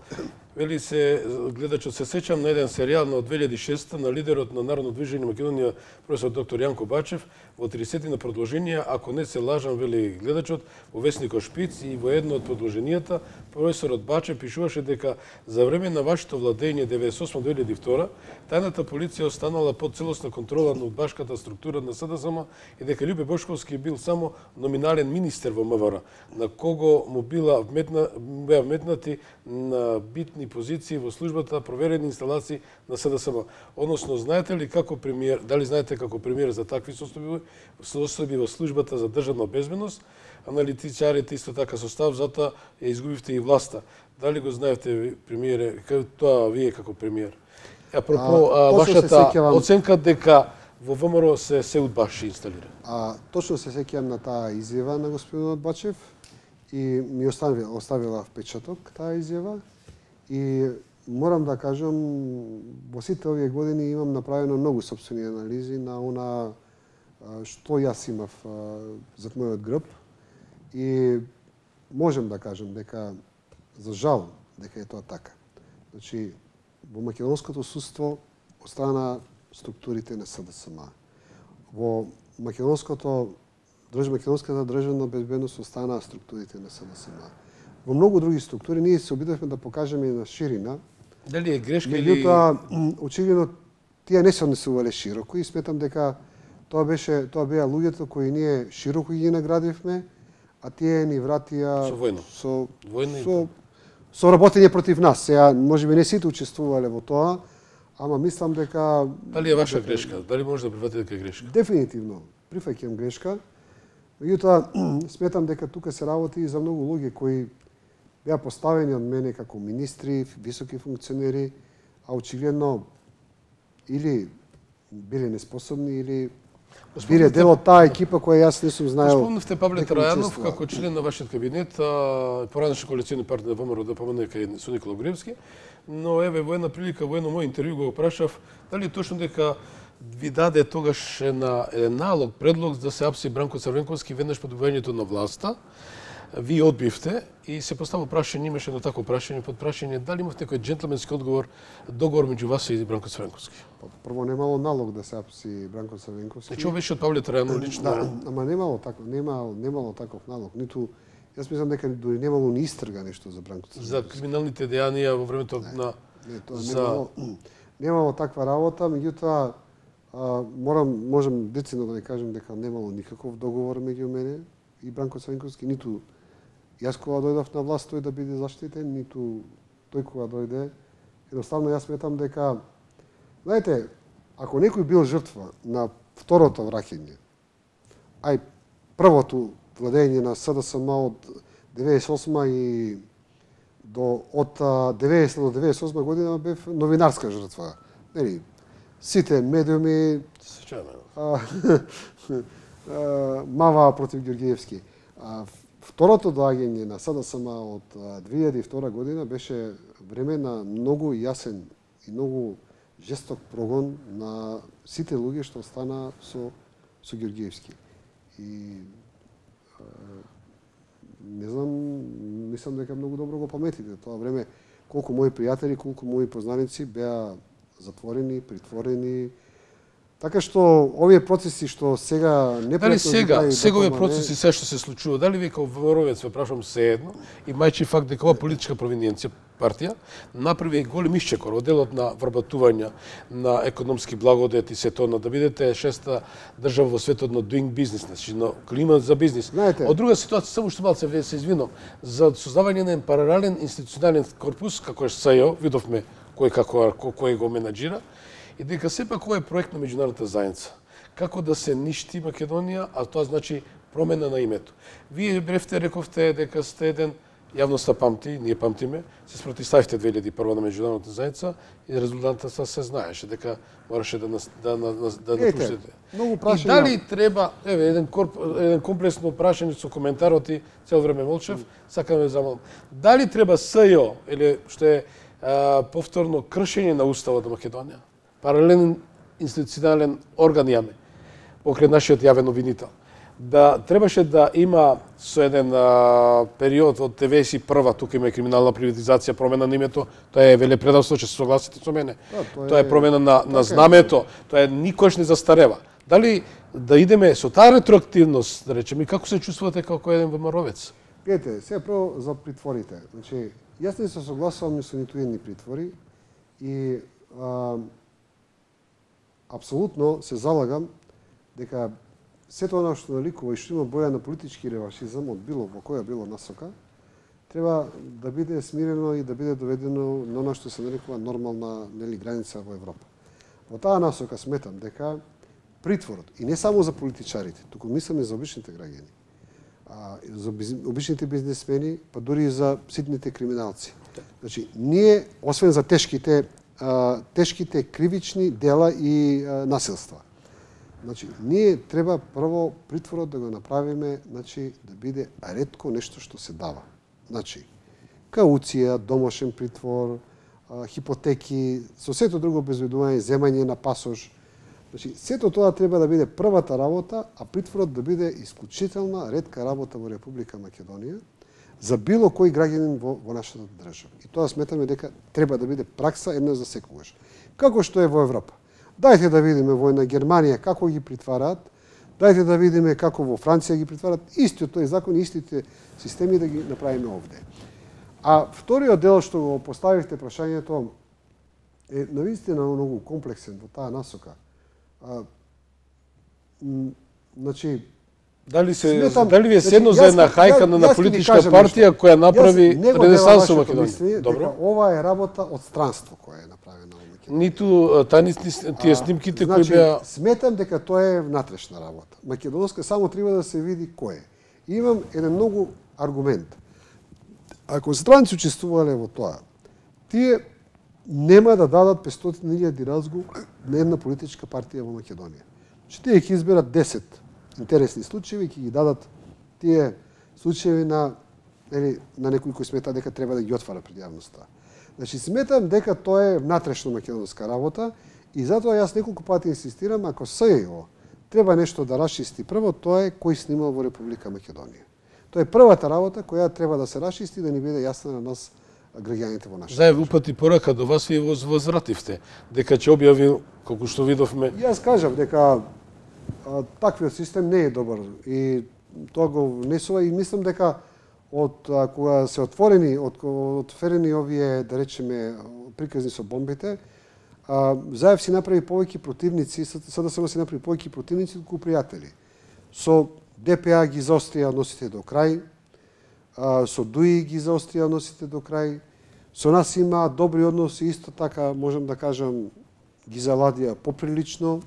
Вели се, гледачот се сеќам на еден серијал на две илјади и шеста на лидерот на Народно движење Македонија, професор доктор Јанко Бачев, во тридесетина продолженија, ако не се лажам, вели гледачот, во весникот Шпиц и во едно од продолженијата, професорот Бачев пишуваше дека за време на вашето владење деветдесет и осма до две илјади и втора, тајната полиција останала под целосна контрола на удбашката структура на СДСМ и дека Љубе Бошковски бил само номинален министер во МВР, на кого му била вметна, беа вметнати на битни позиции во службата проверени инсталации на СДСМ. Односно, знаете ли како премиер, дали знаете како премиер за такви состојби, состојби во службата за државна безбедност, аналитичарите исто така состав, затоа ја изгубивте и власта. Дали го знаевте, премиере, тоа вие како премиер? Апропо, а, вашата сеќавам... оценка дека во ВМРО се се удбаши инсталира. А, точно се сеќавам на таа изјава на господинот Бачев и ми оставила, оставила впечаток таа изјава и морам да кажам, во сите овие години имам направено многу сопствени анализи на она што јас имав зад мојот грб и можем да кажем дека, за жал, дека е тоа така. Значи, во македонското судство остана структурите на СДСМ. Во македонското македонската државна безбедност остана структурите на СДСМ. Во многу други структури ние се обидовме да покажеме на ширина. Дали е грешка или... Меѓутоа, очигледно, тие не се однесувале широко и сметам дека тоа беше, тоа беа луѓето кои ние широко ги наградивме, а тие ни вратија со војно. Со, Војна со, со работење против нас. Сега, можеби не сите учествувале во тоа, ама мислам дека... Дали е ваша грешка? Дали може да прифатите дека е грешка? Дефинитивно, прифаќам грешка. Меѓутоа, сметам дека тука се работи и за многу луѓе кои беа поставени од мене како министри, високи функционери, а очигледно или биле неспособни, или биле дел од таа екипа која јас не сум знаел. Спомнавте Павле Трајанов како член на вашиот кабинет, поранешен коалициони партнер на ВМРО да помине кај со Никола Груевски, но еве во една прилика, во едно мој интервју го прашав дали е точно дека ви даде тогаш на еден налог, предлог да се апси Бранко Црвенковски веднаш по добивањето на власта. Ви одбивте и се поставува прашање, имаше едно такво прашање, под прашање дали имавте некој джентлменски одговор, договор меѓу вас и Бранко Црвенковски. Прво немало налог да се апси Бранко Црвенковски. Значи, ова беше од Павле Трајанов лично. Да, ама немало таков, немало, немало таков налог, ниту јас мислам дека дури немало ни истрга нешто за Бранко Црвенковски. За криминалните дејанија во времето не, на не, тоа за... немало, немало таква работа, меѓутоа морам можам децидно да ви кажам дека немало никаков договор меѓу мене и Бранко Црвенковски, ниту јас кога дојдов на власт тој да биде заштитен, ниту тој кога дојде. Едноставно јас сметам дека, знаете, ако некој бил жртва на второто враќање, ај првото владење на СДСМ од деветдесет и осма и до од деветдесета до деветдесет и осма година бев новинарска жртва. Нели, сите медиуми мава против Ѓорѓиевски. Второто доаѓање на СДСМ од две илјади и втора година беше време на многу јасен и многу жесток прогон на сите луѓе што стана со со Ѓорѓиевски. И а, не знам, мислам дека многу добро го паметите тоа време, колку мои пријатели, колку мои познаници беа затворени, притворени. Така што овие процеси што сега не дали сега, сега овие процеси се што се случува, дали ви како воровец ве прашувам се едно и мајчи факт дека ова политичка провиненција партија направи голем исчекор од делот на вработување на економски благодет и се тоа да бидете шеста држава во светот на doing business, значи на климат за бизнис. Знаете, од друга ситуација само што малце ве се извинам за создавање на паралелен институционален корпус како е СЈО, видовме кој како кој го менаџира. И дека сепак ова е проект на меѓународната заедница. Како да се ништи Македонија, а тоа значи промена на името. Вие бревте, рековте дека сте еден, јавноста памти, ние памтиме, се спротивставивте две илјади и прва на меѓународната заедница и резултатот се знаеше дека мораше да да да да напуштите. Многу прашања. И дали треба, еве еден корп, еден комплексно прашање со коментарот и цел време молчев, сакам да замолам. Дали треба СЈО или што е а, повторно кршење на уставот на Македонија? Паралелен институционален орган јаме, покрај нашиот јавен обвинител. да требаше да има со еден а, период од деветдесет и прва, тука има криминална приватизација, промена на името, тоа е велепредавство, ќе се согласите со мене. Да, тоа, тоа е промена на, на така знамето, тоа е никош не застарева. Дали да идеме со таа ретроактивност, да речеме, како се чувствувате како еден ВМРО-вец? Гледате, сега прво за притворите. Значи, јас не се согласувам со ниту едни притвори и а, апсолутно се залагам дека сето она што наликува и што има боја на политички реваншизам од било во која било насока, треба да биде смирено и да биде доведено на она што се нарекува нормална, нели, граница во Европа. Во таа насока сметам дека притворот, и не само за политичарите, туку мислам и за обичните граѓани, а, за обичните бизнесмени, па дури и за ситните криминалци. Значи, ние, освен за тешките, а, тешките кривични дела и а, насилства, значи, ние треба прво притворот да го направиме, значи, да биде ретко нешто што се дава. Значи, кауција, домашен притвор, а, хипотеки, со сето друго обезбедување, земање на пасош. Значи, сето тоа треба да биде првата работа, а притворот да биде исклучителна, ретка работа во Република Македонија за било кој граѓанин во, во нашата држава. И тоа сметаме дека треба да биде пракса еднаш за секогаш. Како што е во Европа. Дајте да видиме во една Германија како ги притвараат, дајте да видиме како во Франција ги притвараат, истиот тој закон, истите системи да ги направиме овде. А вториот дел што го поставивте прашањето е навистина многу комплексен во таа насока. А, значи, Дали се сметам, дали ви е значи, седно за една хајка на, на политичка партија нешто. која направи ренесанс во Македонија? Мисли, Добро. Ова е работа од странство која е направена во Македонија. Ниту тани тие снимките кои значи, беа сметам дека тоа е внатрешна работа. Македонска само треба да се види кој е. И имам еден многу аргумент. Ако странци учествувале во тоа, тие нема да дадат петстотини илјади разгул на една политичка партија во Македонија. Че тие ќе изберат десет интересни случаи и ќе ги дадат тие случаи на, или, на некои кои смета дека треба да ги отвара пред јавноста. Значи, сметам дека тоа е внатрешно македонска работа и затоа јас неколку пати инсистирам, ако СЈО треба нешто да расчисти прво, тоа е кој снимал во Република Македонија. Тоа е првата работа која треба да се расчисти да ни биде јасна на нас граѓаните во нашата. Заев упати порака до вас и возвративте дека ќе објави колку што видовме. Јас кажав дека а, таквиот систем не е добар и тоа го внесува и мислам дека од а, кога се отворени, од отворени овие, да речеме, приказни со бомбите, а, Заев си направи повеќе противници, СДСМ си направи повеќе противници колку пријатели. Со ДПА ги заострија односите до крај, а, со ДУИ ги заострија односите до крај, со нас има добри односи, исто така, можам да кажам, ги заладија поприлично,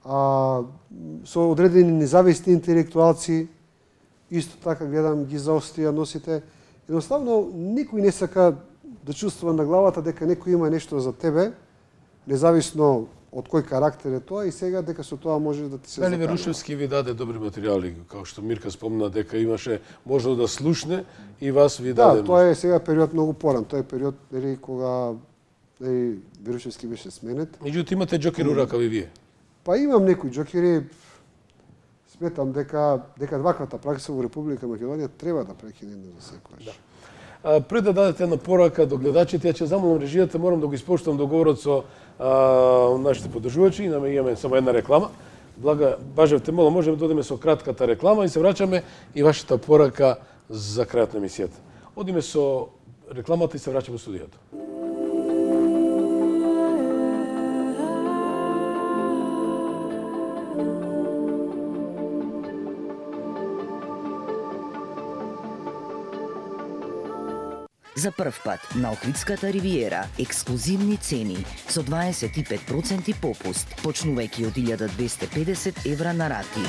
а, со одредени независни интелектуалци, исто така гледам ги заострија односите. Едноставно, никој не сака да чувствува на главата дека некој има нешто за тебе, независно од кој карактер е тоа и сега дека со тоа може да ти се Дали заканува. Верушевски ви даде добри материјали, како што Мирка спомна дека имаше можно да слушне и вас ви даде. Да, тоа е сега период многу поран. Тоа е период нели кога нели Верушевски беше сменет. Меѓутоа имате џокер у ракави вие. Па имам некои џокери. Сметам дека дека ваквата пракса во Република Македонија треба да прекине за секогаш. Да. А, пред да дадете една порака до гледачите, ја ќе замолам режијата, морам да го испоштувам договорот со а, нашите поддржувачи, имаме само една реклама. Блага, бажевте, молам, можеме да одиме со кратката реклама и се враќаме и вашата порака за крајот на емисијата. Одиме со рекламата и се враќаме во студиото. За прв пат на Охридската ривиера ексклузивни цени со дваесет и пет проценти попуст, почнувајќи од илјада двесте и педесет евра на рати.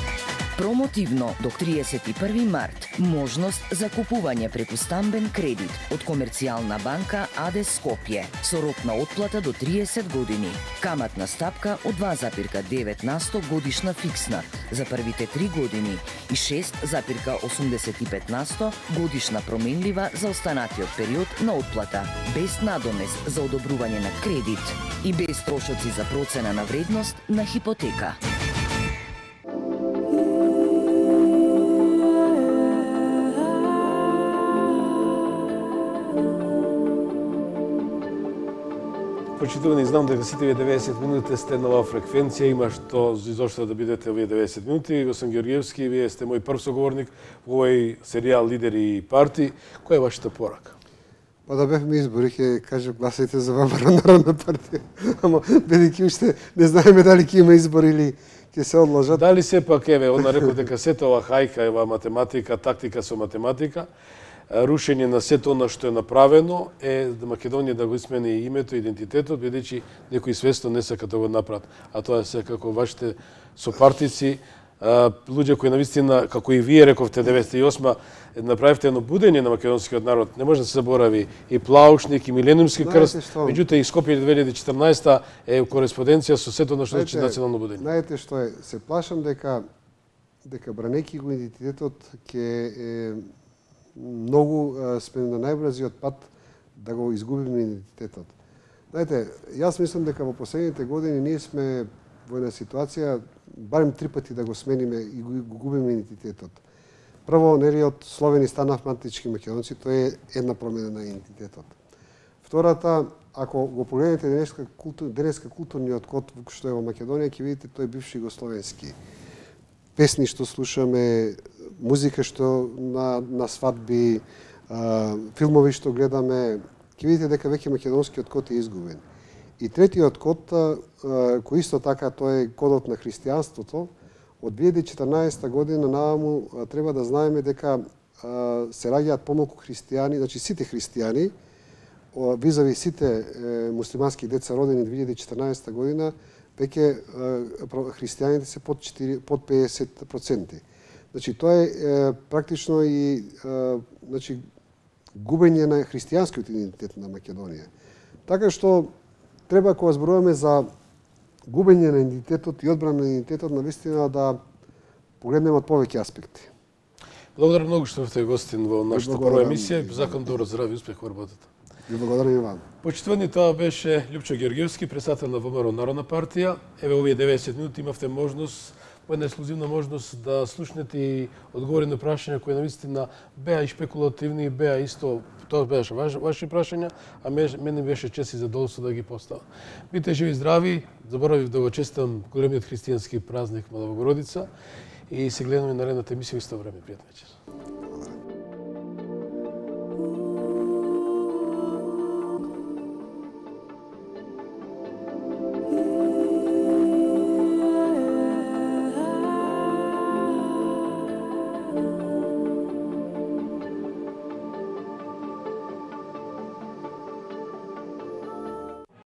Промотивно до триесет и први март можност за купување преку стамбен кредит од Комерцијална банка АД Скопје со рок на отплата до триесет години. Каматна стапка од два запирка девет на сто годишна фиксна за првите три години и шест запирка осумдесет и пет на сто годишна променлива за останатиот период на отплата, без надомест за одобрување на кредит и без трошоци за процена на вредност на хипотека. почитувани, знам дека сите вие деветдесет минути сте на оваа фреквенција, има што изошто да бидете овие деветдесет минути. Господин Георгиевски, вие сте мој прв соговорник во овој серијал Лидери и партии. Која е вашата порака? Па да бевме избори, ќе кажем гласайте за ВМРО Народна партија. Ама бидејќи уште не знаеме дали ќе има избори или ќе се одложат. Дали сепак, еве, она реков дека сета ова хајка, ева математика, тактика со математика, рушење на сето она што е направено е да Македонија да го смени името, идентитетот, бидејќи некои свесно не сака да го направат. А тоа е секако вашите сопартици, луѓе кои навистина, како и вие рековте деветдесет и осма, направивте едно будење на македонскиот народ. Не може да се заборави и Плаушник, и Милениумски крст, меѓутоа и Скопје две илјади и четрнаесета е кореспонденција со сето на што значи национално будење. Знаете што е, се плашам дека дека бранејќи го идентитетот ќе е многу сме на најбрзиот пат да го изгубиме идентитетот. Знаете, јас мислам дека во последните години ние сме во една ситуација барем три пати да го смениме и го губиме идентитетот. Прво, нели од словени станавме антички македонци, тоа е една промена на идентитетот. Втората, ако го погледнете денеска, култур, денеска културниот код што е во Македонија, ќе видите тој бивши југословенски. Песни што слушаме, музика што на, на свадби, а, филмови што гледаме, ќе видите дека веќе македонскиот код е изгубен. И третиот код, а, кој исто така тој е кодот на христијанството, од две илјади и четрнаесета година наваму треба да знаеме дека а, се раѓаат помалку христијани, значи сите христијани, визави сите е, муслимански деца родени две илјади и четрнаесета година, веќе христијаните се под, четири, под педесет проценти. Значи, тоа е, е практично и е, значи, губење на христијанскиот идентитет на Македонија. Така што треба, кога зборуваме за губење на идентитетот и одбрана на идентитетот, навистина да погледнеме од повеќе аспекти. Благодарам многу што сте гостин во нашата прва емисија. Закон добро здравје и успех во работата. Ви благодарам и вам. Почитувани, тоа беше Лјупчо Георгиевски, председател на ВМРО Народна партија. Еве овие деветдесет минути имавте можност, по една ексклузивна можност да слушнете и одговори на прашања кои навистина беа и шпекулативни, беа исто, тоа беше ваши прашања, а мене беше чест и задоволство да ги поставам. Бидете живи и здрави, заборавив да го честитам големиот христијански празник Мала Богородица и се гледаме на наредната емисија исто време. Пријатна вечер.